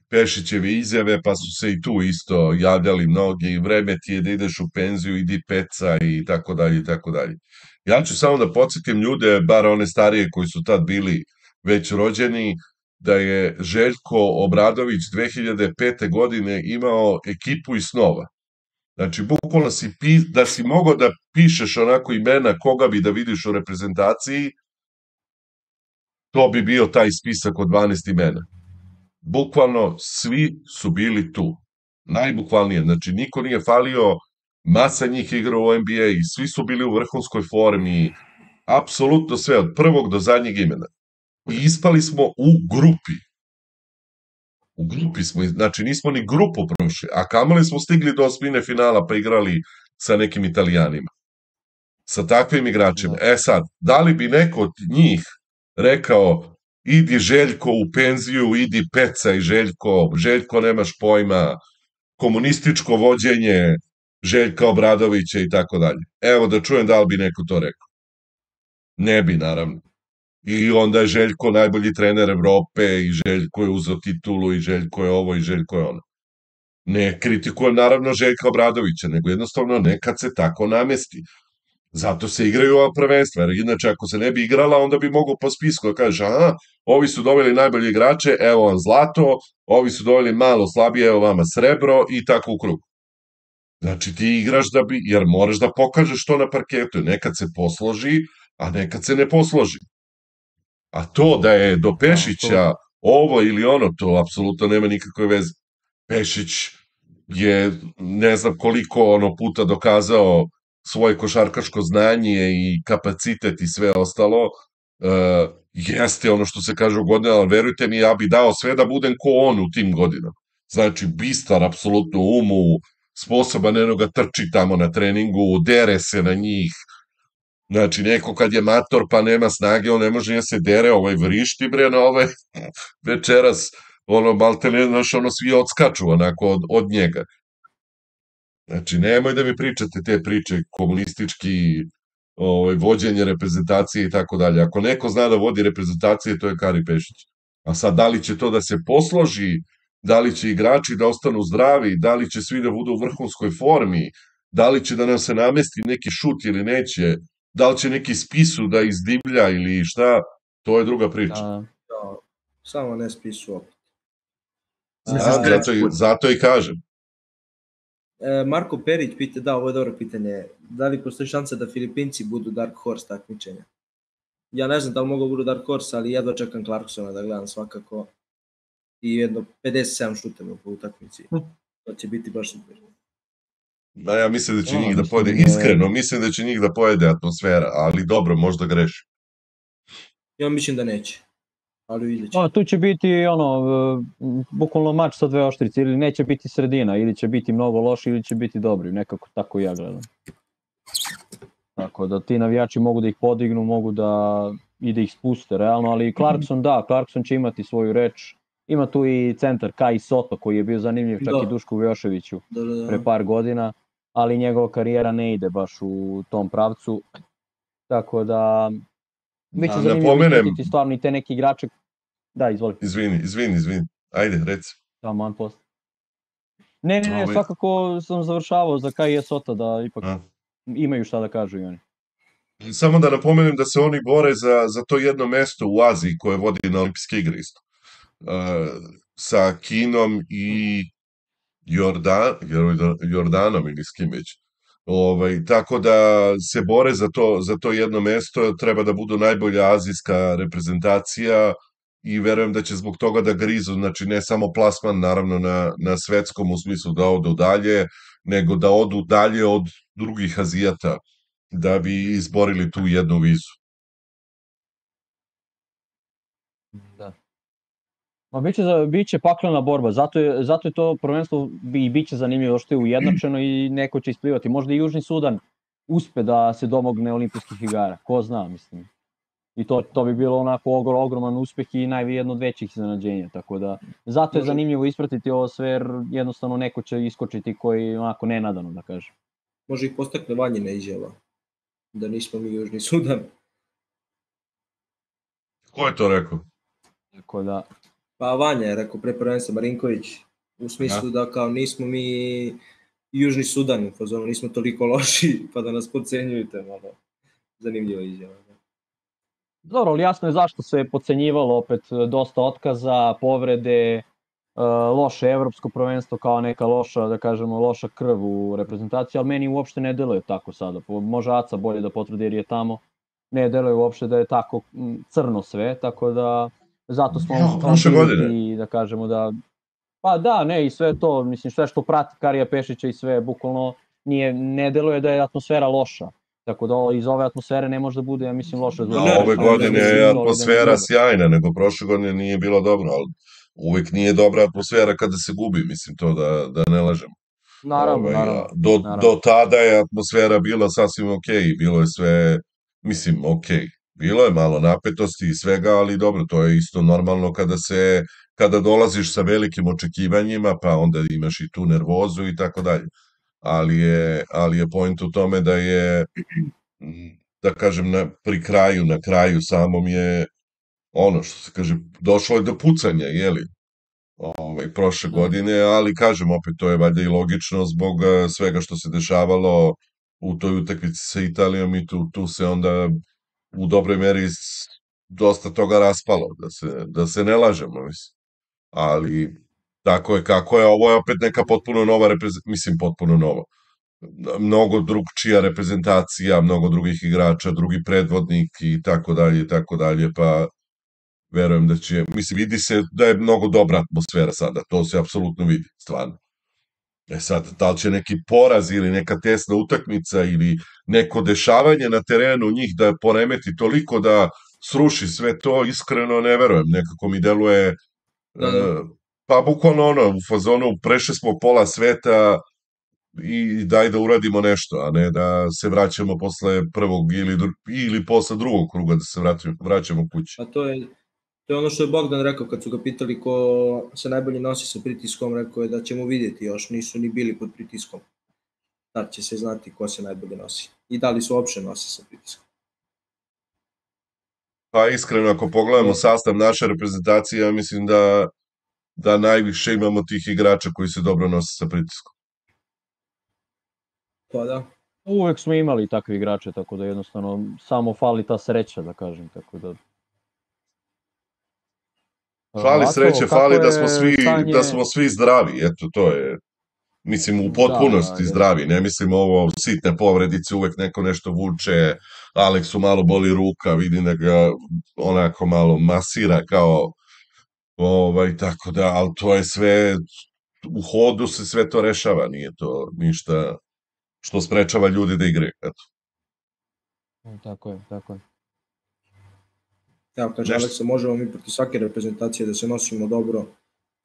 Pešićeve izjave, pa su se i tu isto javljali mnogi, vreme ti je da ideš u penziju, idi peca i tako dalje i tako dalje. Ja ću samo da podsjetim ljude, bar one starije koji su tad bili već rođeni, da je Željko Obradović 2005. godine imao ekipu iz snova. Znači, bukvalno da si mogao da pišeš onako imena koga bi da vidiš u reprezentaciji, to bi bio taj spisak od 12 imena. Bukvalno svi su bili tu. Najbukvalnije. Znači, niko nije falio, masa njih igra u NBA i svi su bili u vrhunskoj formi. Apsolutno sve, od prvog do zadnjeg imena. I ispali smo u grupi. U grupi smo, znači nismo ni grupu prošli, a kamali smo stigli do osmine finala pa igrali sa nekim Italijanima. Sa takvim igračima. Sad, da li bi neko od njih rekao idi Željko u penziju, idi pecaj Željko nemaš pojma, komunističko vođenje Željka Obradovića i tako dalje. Evo da čujem da li bi neko to rekao. Ne bi, naravno. I onda je Željko najbolji trener Evrope i Željko je uzeo titulu i Željko je ovo i Željko je ono. Ne kritikujem naravno Željka Obradovića, nego jednostavno nekad se tako namesti. Zato se igraju ova prvenstva, jer inače ako se ne bi igrala, onda bi mogao po spisku da kažeš, aha, ovi su doveli najbolje igrače, evo vam zlato, ovi su doveli malo slabije, evo vama srebro i tako u krug. Znači ti igraš jer moraš da pokažeš to na parketu, nekad se posloži, a nekad se ne posloži. A to da je do Pešića ovo ili ono, to apsolutno nema nikakve veze. Pešić je ne znam koliko puta dokazao svoje košarkaško znanje i kapacitet i sve ostalo, jeste ono što se kaže u godinama, ali verujte mi, ja bi dao sve da budem ko on u tim godinama. Znači, bistar, apsolutno umu, sposoban ga trči tamo na treningu, dere se na njih. Znači, neko kad je mator pa nema snage, on ne može da se dere, vrišti bre na večeras, malte ne, znaš, svi odskaču onako od njega. Znači, nemoj da mi pričate te priče komunistički, vođenje reprezentacije i tako dalje. Ako neko zna da vodi reprezentacije, to je Kari Pešić. A sad, da li će to da se posloži, da li će igrači da ostanu zdravi, da li će svi da budu u vrhunskoj formi, da li će da nam se namesti neki šut ili neće, da li će neki spisu da izdivlja ili šta, to je druga priča. Samo ne spisu opet. Zato i kažem. Marko Perić pita, ovo je dobro pitanje, da li postoji šansa da Filipinci budu Dark Horse takmičenja? Ja ne znam da li mogu budu Dark Horse, ali jedva čekam Clarksona da gledam svakako i jedno 57 šuteva po utakmici. To će biti baš super. Da, ja mislim da će njih da pojede, iskreno mislim da će njih da pojede atmosfera, ali dobro, možda grešim. Ja mislim da neće. Ali vidjet će. Tu će biti bukvalno mač sa dve oštrice, ili neće biti sredina, ili će biti mnogo loši, ili će biti dobri, nekako tako ja gledam. Tako da ti navijači mogu da ih podignu, mogu da ih spuste realno, ali Clarkson će imati svoju reč. Ima tu i centar Kai Soto koji je bio zanimljiv čak i Dušku Vujoševiću pre par godina, ali njegova karijera ne ide baš u tom pravcu. Tako da biće zanimljivo vidjeti stvarno i te neki igrače. Da, izvoli. Izvini. Ajde, reci. Man post. Ne, svakako sam završavao za Kai Sota da ipak imaju šta da kažu i oni. Samo da napomenem da se oni bore za to jedno mesto u Aziji koje vodi na olimpijske igre isto. Sa Kinom i Jordanom ili s kim već. Tako da se bore za to jedno mesto, treba da budu najbolja azijska reprezentacija i verujem da će zbog toga da grizu, znači ne samo plasman naravno na svetskom u smislu da odu dalje, nego da odu dalje od drugih Azijata da bi izborili tu jednu vizu. Da. Ma biće paklena borba, zato je to prvenstvo i biće zanimljivo što je ujednačeno i neko će isplivati. Možda i Južni Sudan uspe da se domogne olimpijskih igara, ko zna, mislim. I to bi bilo onako ogroman uspeh i jedno od većih iznenađenja, tako da zato je zanimljivo ispratiti ovo sve jer jednostavno neko će iskočiti koji onako nenadano, da kažem. Može ih postakne Vanjina izjava, da nismo mi Južni Sudan. Ko je to rekao? Tako da... Pa Vanja je rekao pre prvenstva, Marinković, u smislu da kao nismo mi Južni Sudan, u fazonu nismo toliko loši, pa da nas podcenjujete, malo zanimljiva izjava. Dobro, ali jasno je zašto se podcenjivalo, opet dosta otkaza, povrede, loše evropsko prvenstvo kao neka loša, da kažemo, loša krv u reprezentaciji, ali meni uopšte ne deluje tako sada. Može Aca bolje da potvrdi jer je tamo, ne deluje uopšte da je tako crno sve, tako da zato smo prošle godine, da kažemo da pa da, ne, i sve to, mislim, sve što prati Karija Pešića i sve, bukvalno ne deluje da je atmosfera loša. Tako da iz ove atmosfere ne može da bude, ja mislim, loše rezultat. Ove godine je atmosfera sjajna, nego prošle godine nije bilo dobro, ali uvek nije dobra atmosfera kada se gubi, mislim, to da ne lažemo. Naravno. Do tada je atmosfera bila sasvim okej, bilo je sve, mislim, okej. Bilo je malo napetosti i svega, ali dobro, to je isto normalno kada dolaziš sa velikim očekivanjima, pa onda imaš i tu nervozu i tako dalje. Ali je point u tome da je, da kažem, na kraju samom je ono što se kaže, došlo je do pucanja, jeli, prošle godine, ali kažem opet, to je valjda i logično zbog svega što se dešavalo u toj utakmici sa Italijom i tu se onda u dobroj meri dosta toga raspalo, da se ne lažemo, mislim. Ali tako je kako je, ovo je opet neka potpuno nova mislim potpuno nova. Mnogo drugčija reprezentacija, mnogo drugih igrača, drugi predvodnik i tako dalje, pa verujem da će, mislim, vidi se da je mnogo dobra atmosfera sada, to se apsolutno vidi, stvarno. Sad, da li će neki poraz ili neka tesna utakmica ili neko dešavanje na terenu njih da poremeti toliko da sruši sve to, iskreno ne verujem, nekako mi deluje, pa bukvalno u fazonu prešli smo pola sveta i daj da uradimo nešto, a ne da se vraćamo posle prvog ili posle drugog kruga da se vraćamo kući. A to je ono što je Bogdan rekao kad su ga pitali ko se najbolje nosi sa pritiskom, rekao je da ćemo vidjeti, još nisu ni bili pod pritiskom. Tad će se znati ko se najbolje nosi i da li su uopšte nosi sa pritiskom. Pa iskreno, ako pogledamo sastav naše reprezentacije, ja mislim da najviše imamo tih igrača koji se dobro nose sa pritiskom. Pa da. Uvek smo imali takve igrače, tako da jednostavno samo fali ta sreća, da kažem, tako da... Fali sreće, fali da smo svi zdravi, eto to je, mislim, u potpunosti zdravi, ne mislim ovo sitne povredice, uvek neko nešto vuče, Aleksu malo boli ruka, vidim da ga onako malo masira kao, tako da, ali to je sve, u hodu se sve to rešava, nije to ništa što sprečava ljudi da igraju, eto. Tako je. Evo, kaže Aleksa, možemo mi proti svake reprezentacije da se nosimo dobro.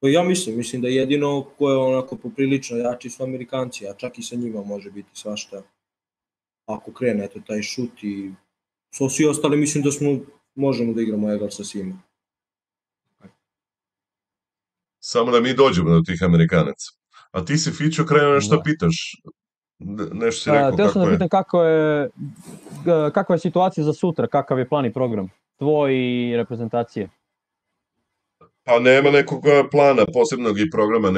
Pa ja mislim da jedino ko je onako poprilično jači su Amerikanci, a čak i sa njima može biti svašta. Ako krene, eto, taj šut i svi ostali, mislim da možemo da igramo egal sa svima. Samo da mi dođemo do tih Amerikanaca. A ti si, Fićo, krenuo nešto pitaš? Nešto si rekao, kako je? Pitam kakva je situacija za sutra, kakav je plan i program tvoj i reprezentacije? Pa nema nekog plana, posebnog i programa,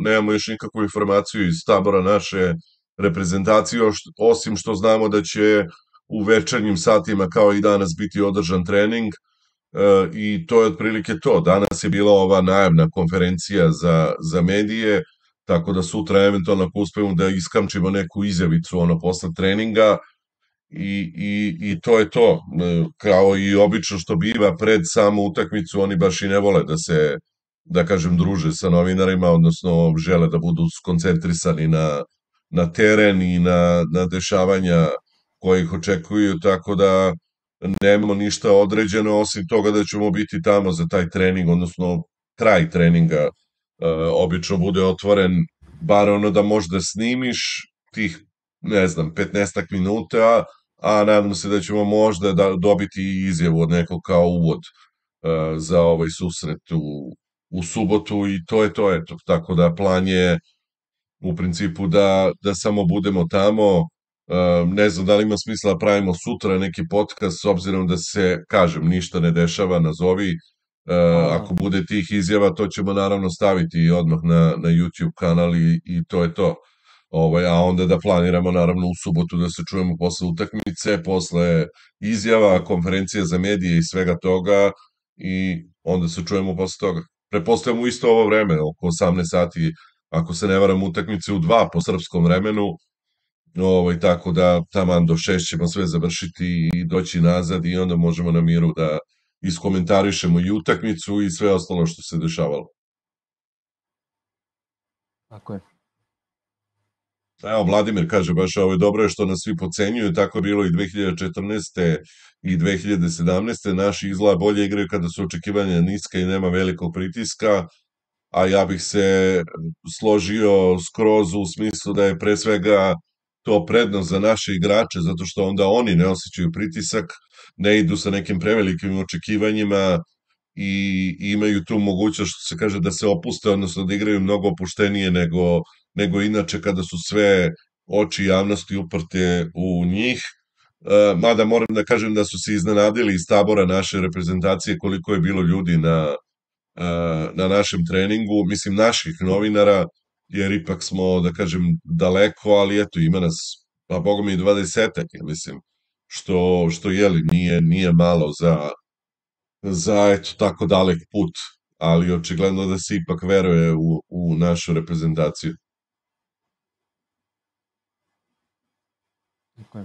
nemamo još nikakvu informaciju iz tabora naše reprezentacije, osim što znamo da će u večernjim satima kao i danas biti održan trening i to je otprilike to. Danas je bila ova najavna konferencija za medije, tako da sutra eventualno ako uspemo da iskamčimo neku izjavicu posle treninga i to je to. Kao i obično što biva pred samu utakmicu, oni baš i ne vole da se, da kažem, druže sa novinarima, odnosno žele da budu skoncentrisani na teren i na dešavanja koje ih očekuju, tako da nemamo ništa određeno osim toga da ćemo biti tamo za taj trening, odnosno kraj treninga obično bude otvoren, bar ono da možda snimiš tih, ne znam, 15 minuta, a nadam se da ćemo možda dobiti izjavu od nekog kao uvod za ovaj susret u subotu i to je to, eto. Tako da plan je u principu da samo budemo tamo. Ne znam da li ima smisla da pravimo sutra neki podcast, s obzirom da se, kažem, ništa ne dešava, nazovi. Ako bude tih izjava, to ćemo naravno staviti odmah na YouTube kanal i to je to. A onda da planiramo naravno u subotu da se čujemo posle utakmice, posle izjava, konferencije za medije i svega toga i onda se čujemo posle toga. Prepostavljamo u isto ovo vreme, oko 18 sati, ako se ne varam, utakmice u 2 po srpskom vremenu, tako da taman do 6 ćemo sve završiti i doći nazad i onda možemo na miru da iskomentarišemo i utakmicu i sve ostalo što se dešavalo. Tako je. Evo, Vladimir kaže baš ovo je dobro što nas svi pocenjuju, tako je bilo i 2014. i 2017. Naši izgleda bolje igraju kada su očekivanja niska i nema velikog pritiska, a ja bih se složio skroz u smislu da je pre svega to prednost za naše igrače, zato što onda oni ne osjećaju pritisak, ne idu sa nekim prevelikim očekivanjima i imaju tu mogućnost, što se kaže, da se opuste, odnosno da igraju mnogo opuštenije nego inače kada su sve oči javnosti uprte u njih. Mada moram da kažem da su se iznenadili iz tabora naše reprezentacije koliko je bilo ljudi na našem treningu, mislim naših novinara, jer ipak smo, da kažem, daleko, ali eto, ima nas, pa boga mi 20-ak, mislim, što jeli, nije malo za eto, tako dalek put, ali očigledno da se ipak veruje u našu reprezentaciju. Okay.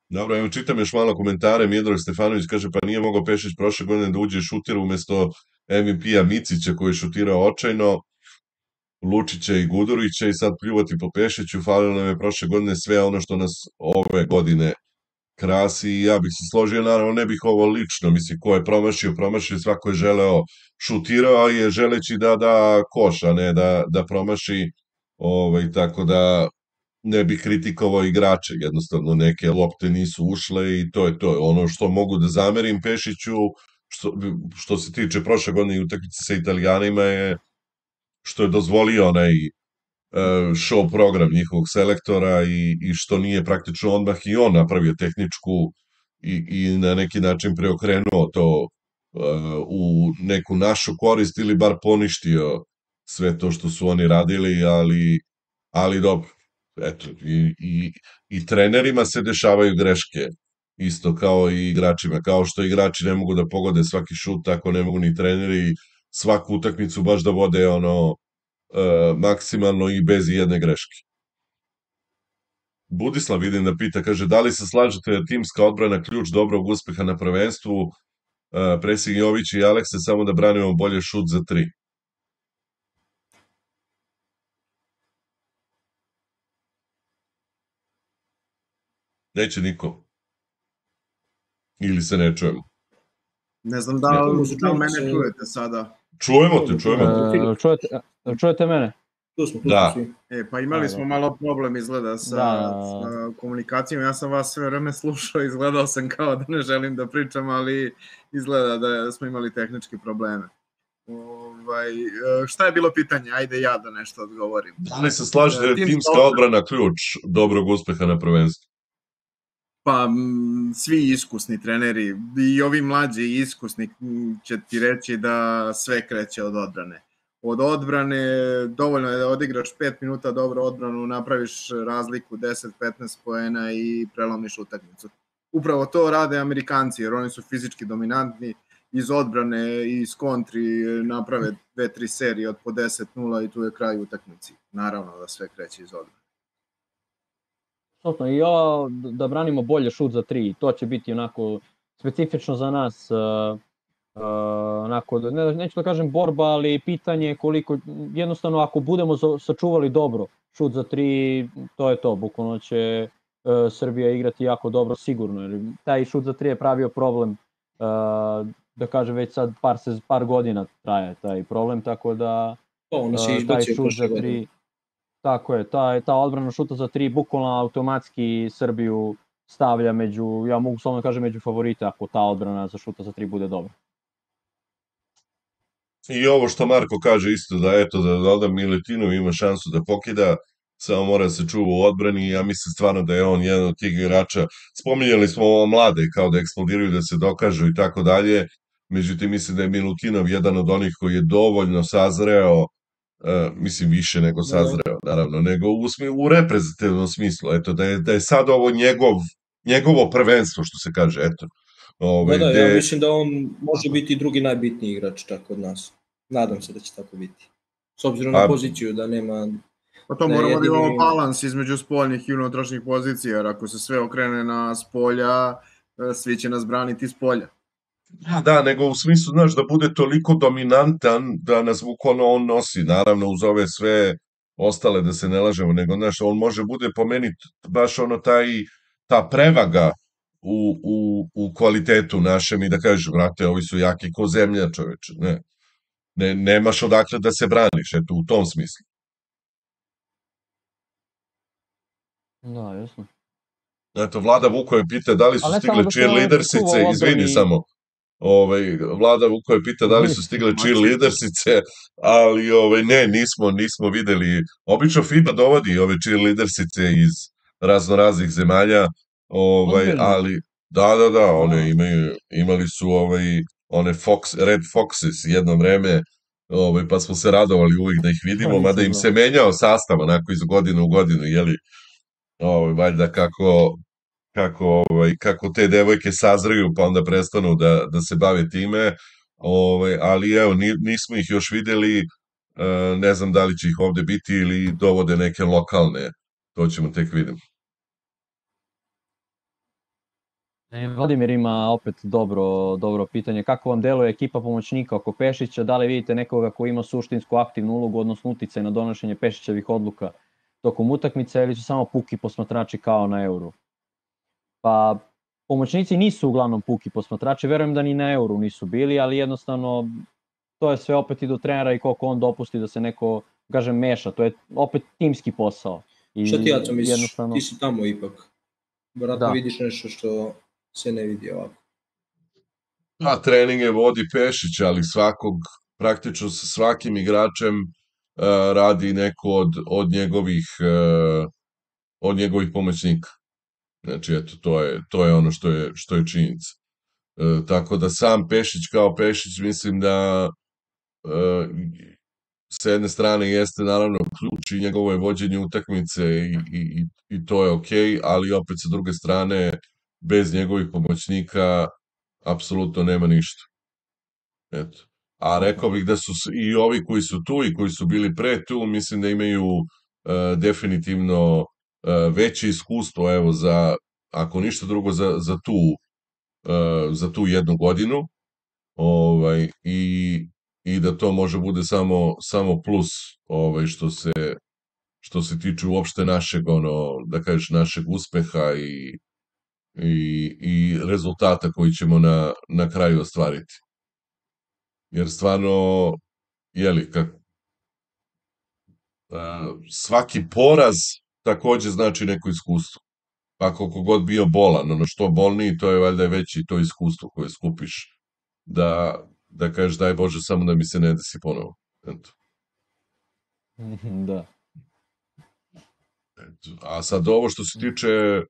Dobro, evo čitam još malo komentare. Miodrag Stefanović kaže, pa nije mogao Pešić prošle godine da uđe šutir umesto MVP-a Micića koji je šutirao očajno, Lučića i Gudurića i sad pljuvati po Pešiću. Falilo nam je prošle godine sve ono što nas ove godine krasi i ja bih se složio, naravno ne bih ovo lično, mislim, ko je promašio, svako je želeo, šutirao je želeći da koš, a ne da promaši, tako da ne bih kritikovao igrače, jednostavno neke lopte nisu ušle i to je to. Ono što mogu da zamerim Pešiću, što se tiče prošle godine i utakmice sa Italijanima, je što je dozvolio onaj show program njihovog selektora i što nije praktično odmah i on napravio tehničku i na neki način preokrenuo to u neku našu korist ili bar poništio sve to što su oni radili, ali dobro. Eto, i trenerima se dešavaju greške, isto kao i igračima. Kao što igrači ne mogu da pogode svaki šut, tako ne mogu ni treneri svaku utakmicu baš da vode maksimalno i bez jedne greške. Budislav vidim da pita, kaže, da li se slažete da timska odbrana ključ dobrog uspeha na prvenstvu, Presing Jović i Alekse, samo da branimo bolje šut za 3? Neće niko. Ili se ne čujemo. Ne znam da mene čujete sada. Čujemo te. Čujete mene? Tu smo svi. Pa imali smo malo problem izgleda sa komunikacijom. Ja sam vas sve vreme slušao, izgledao sam kao da ne želim da pričam, ali izgleda da smo imali tehničke probleme. Šta je bilo pitanje? Ajde ja da nešto odgovorim. Da li se slažete da je timska odbrana ključ dobrog uspeha na prvenstvu? Pa svi iskusni treneri i ovi mlađi iskusni će ti reći da sve kreće od odbrane. Od odbrane dovoljno je da odigraš 5 minuta dobro odbranu, napraviš razliku 10-15 poena i prelomiš utakmicu. Upravo to rade Amerikanci jer oni su fizički dominantni iz odbrane i iz kontri naprave 2-3 serije od po 10-0 i tu je kraj utakmici. Naravno da sve kreće iz odbrane. Apsolutno, i ovo da branimo bolje šut za 3, to će biti onako specifično za nas, onako, neću da kažem borba, ali pitanje koliko, jednostavno ako budemo sačuvali dobro šut za 3, to je to, bukvalno će Srbija igrati jako dobro sigurno, jer taj šut za 3 je pravio problem, da kažem već sad par godina traje taj problem, tako da taj šut za 3, tako je, ta odbrana šuta za 3 bukvalno automatski Srbiju stavlja među, ja mogu samo da kažem među favorite ako ta odbrana za šuta za 3 bude dobra. I ovo što Marko kaže isto, da eto, da Milutinov ima šansu da pokida, samo mora da se čuva u odbrani i ja mislim stvarno da je on jedan od tih igrača. Spominjali smo ovo mlade kao da eksplodiraju, da se dokažu i tako dalje, međutim mislim da je Milutinov jedan od onih koji je dovoljno sazreo, mislim više nego sazreo, naravno, nego u reprezentativnom smislu, eto, da je sad ovo njegovo prvenstvo, što se kaže, eto. Ja mislim da on može biti drugi najbitniji igrač čak od nas. Nadam se da će tako biti. S obzirom na poziciju da nema... Pa to moramo da imamo balans između spoljnih i unutrašnjih pozicija, jer ako se sve okrene na spolja, svi će nas braniti s polja. Da, nego u smislu, znaš, da bude toliko dominantan da nas bukvalno on nosi, naravno uz ove sve ostale, da se ne lažemo, nego, znaš, on može bude po meni baš ono ta prevaga u kvalitetu našem i da kažeš, brate, ovi su jaki ko zemlja, čoveče, ne, nemaš odakle da se braniš, eto, u tom smislu. Da, jasno. Eto, Vlada Vukove pita da li su stigle cheerleadersice, izvini samo, Vlada Vukove pita da li su stigle cheerleadersice, ali ne, nismo videli, obično FIBA dovodi ove cheerleadersice iz raznoraznih zemalja, ali da, one imali su one Red Foxes jedno vreme, pa smo se radovali uvijek da ih vidimo, mada im se menjao sastav onako iz godine u godinu, jeli, valjda kako te devojke sazreju pa onda prestanu da se bave time, ali evo, nismo ih još videli, ne znam da li će ih ovde biti ili dovode neke lokalne, to ćemo tek vidjeti. Vladimir ima opet dobro pitanje. Kako vam deluje ekipa pomoćnika oko Pešića? Da li vidite nekoga ko ima suštinsku aktivnu ulogu, odnosno uticaj na donošenje Pešićevih odluka tokom utakmice ili su samo puki posmatrači kao na Euru? Pa, pomoćnici nisu uglavnom puki posmatrači, verujem da ni na Euru nisu bili, ali jednostavno to je sve opet i do trenera i koliko on dopusti da se neko, kažem, meša. To je opet timski posao. Šta ti, Aco, misliš? Ti si tamo ipak. Vratno vidiš nešto što se ne vidi ovako. Treninge vodi Pešić, ali praktično sa svakim igračem radi neko od njegovih pomoćnika. Znači, eto, to je ono što je činjenica. Tako da sam Pešić kao Pešić, mislim da s jedne strane jeste naravno ključ i njegovo je vođenje utakmice i to je okej, ali opet sa druge strane, bez njegovih pomoćnika apsolutno nema ništa. Eto. A rekao bih da su i ovi koji su tu i koji su bili pre tu, mislim da imaju definitivno veće iskustvo, evo, ako ništa drugo, za tu jednu godinu, i da to može bude samo plus, što se tiče uopšte našeg, da kažeš, našeg uspeha i rezultata koji ćemo na kraju ostvariti. Jer stvarno, jeli, svaki poraz takođe znači neko iskustvo. Pa koliko god bio bolan, što bolniji, to je valjda veće to iskustvo koje skupiš. Da kažeš, daj Bože, samo da mi se ne desi ponovo. Eto. Da. A sad ovo što se tiče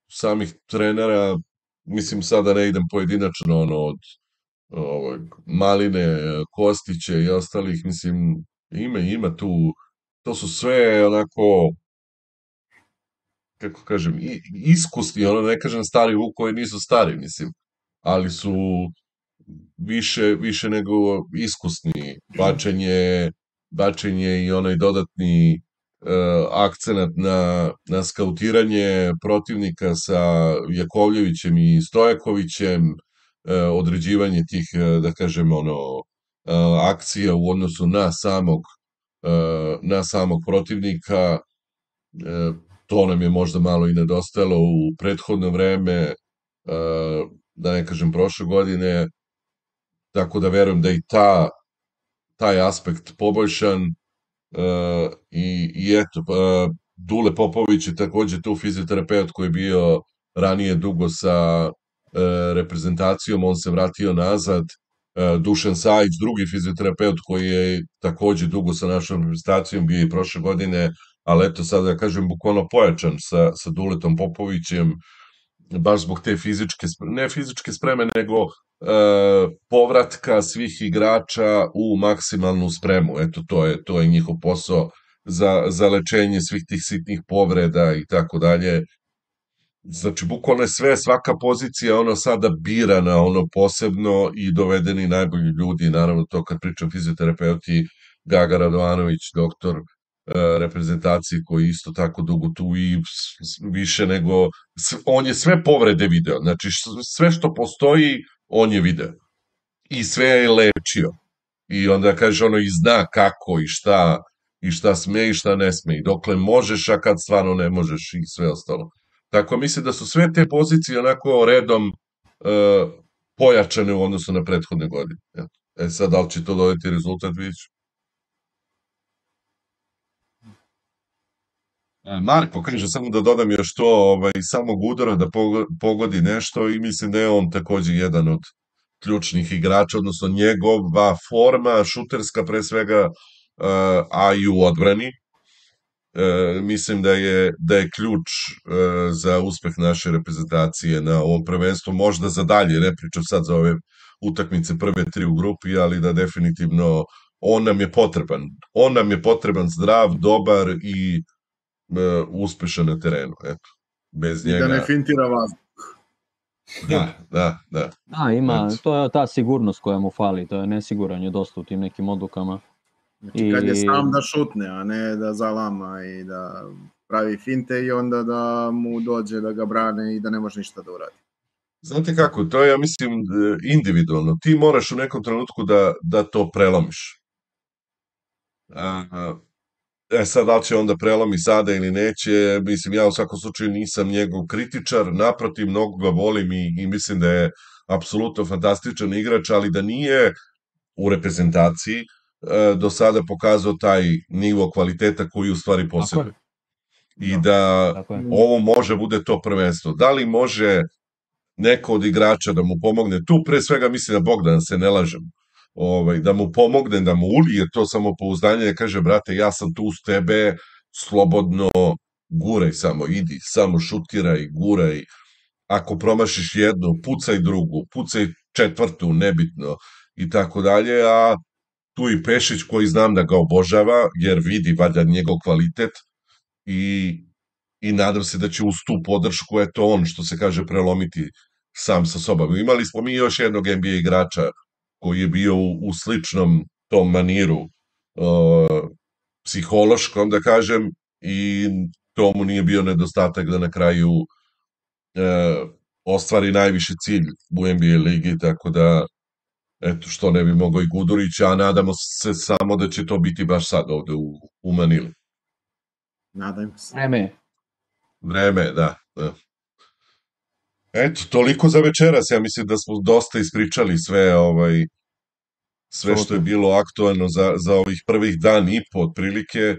samih trenera, mislim sad da ne idem pojedinačno od Maline, Kostića i ostalih, mislim, ima tu, to su sve onako, kako kažem, iskusni, ne kažem stari Vuk koji nisu stari, mislim, ali su više nego iskusni. Bačenje i onaj dodatni akcenat na skautiranje protivnika sa Jakovljevićem i Stojakovićem, određivanje tih, da kažem, akcija u odnosu na samog protivnika, to nam je možda malo i nedostajalo u prethodno vreme, da ne kažem prošle godine, tako da verujem da i taj aspekt poboljšan, i eto, Dule Popović je takođe tu fizioterapeut koji je bio ranije dugo sa reprezentacijom, on se vratio nazad. Dušan Sajić, drugi fizioterapeut koji je takođe dugo sa našom reprezentacijom, bio i prošle godine, ali eto sad da kažem bukvalno pojačan sa Duletom Popovićem, baš zbog te ne fizičke spreme, nego povratka svih igrača u maksimalnu spremu. Eto, to je njihov posao za lečenje svih tih sitnih povreda i tako dalje. Znači, bukvalno je svaka pozicija sada birana posebno i dovedeni najbolji ljudi, naravno to kad pričam fizioterapeuti, Gaga Radovanović, doktor reprezentaciji koji isto tako dugo tu i više nego, on je sve povrede video, znači sve što postoji on je video i sve je lečio i onda kaže i zna kako i šta sme i šta ne sme i dokle možeš, a kad stvarno ne možeš i sve ostalo. Tako mislim da su sve te pozicije onako redom pojačane u odnosu na prethodne godine. Sad, da li će to dodati rezultat, vidjet ću. Marko kaže, samo da dodam još to, samog udara da pogodi nešto i mislim da je on takođe jedan od ključnih igrača, odnosno njegova forma šuterska pre svega, a i u odbrani. Mislim da je ključ za uspeh naše reprezentacije na ovom prvenstvu, možda za dalje, ne pričam sad za ove utakmice prve 3 u grupi, ali da definitivno on nam je potreban. On nam je potreban zdrav, dobar i uspešan na terenu. Eto, bez njega... I da ne fintira vazduh. Da. Ima, to je ta sigurnost koja mu fali, to je nesiguran je dosta u tim nekim odlukama. Znači kad je sam da šutne, a ne da zalama i da pravi finte i onda da mu dođe da ga brane i da ne može ništa da uradi. Znate kako, to je, ja mislim, individualno. Ti moraš u nekom trenutku da to prelomiš. Sad, da li će onda prelomi sada ili neće, mislim, ja u svakom slučaju nisam njegov kritičar, naprotiv, mnogo ga volim i mislim da je apsolutno fantastičan igrač, ali da nije u reprezentaciji do sada pokazao taj nivo kvaliteta koji u stvari posjeduje. I da ovo može bude to prvenstvo. Da li može neko od igrača da mu pomogne? Tu pre svega mislim na Bogdana, se ne lažem. Da mu pomogne, da mu ulije to samopouzdanje, da kaže, brate, ja sam tu uz tebe, slobodno guraj samo, idi, samo šutiraj, guraj. Ako promašiš jednu, pucaj drugu, pucaj četvrtu, nebitno, i tako dalje, a tu i Pešić koji znam da ga obožava, jer vidi valjda njegov kvalitet i nadam se da će uz tu podršku, eto on, što se kaže, prelomiti sam sa sobom. Imali smo mi još jednog NBA igrača koji je bio u sličnom tom maniru psihološkom, da kažem, i to mu nije bio nedostatak da na kraju ostvari najviši cilj u NBA ligi, tako da eto, što ne bi mogao i Gudurić, a nadamo se samo da će to biti baš sad ovde u Manili. Nadam se. Vreme, da. Eto, toliko za večeras, ja mislim da smo dosta ispričali sve što je bilo aktualno za ovih prvih dan i po otprilike.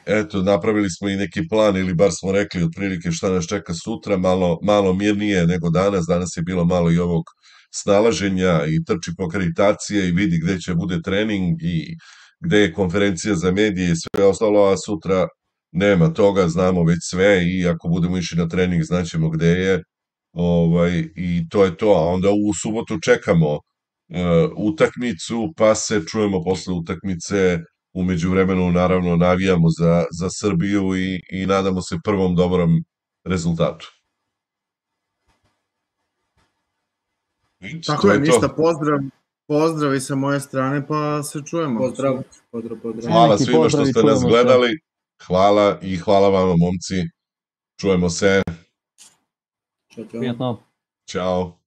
Eto, napravili smo i neki plan, ili bar smo rekli otprilike šta nas čeka sutra, malo mirnije nego danas je bilo malo i ovog snalaženja i trči po akreditacije i vidi gde će bude trening i gde je konferencija za medije i sve ostalo, a sutra nema toga, znamo već sve i ako budemo išli na trening znaćemo gde je, i to je to, a onda u subotu čekamo utakmicu, pa se čujemo posle utakmice, u međuvremenu naravno navijamo za Srbiju i nadamo se prvom dobrom rezultatu. Tako To je, to. ništa, pozdrav i sa moje strane, pa se čujemo. Pozdrav. Hvala Veliki svima što pozdrav i ste nas čujemo se. gledali. Hvala i hvala vama, momci. Čujemo se. Ćao. Prijetno. Ćao.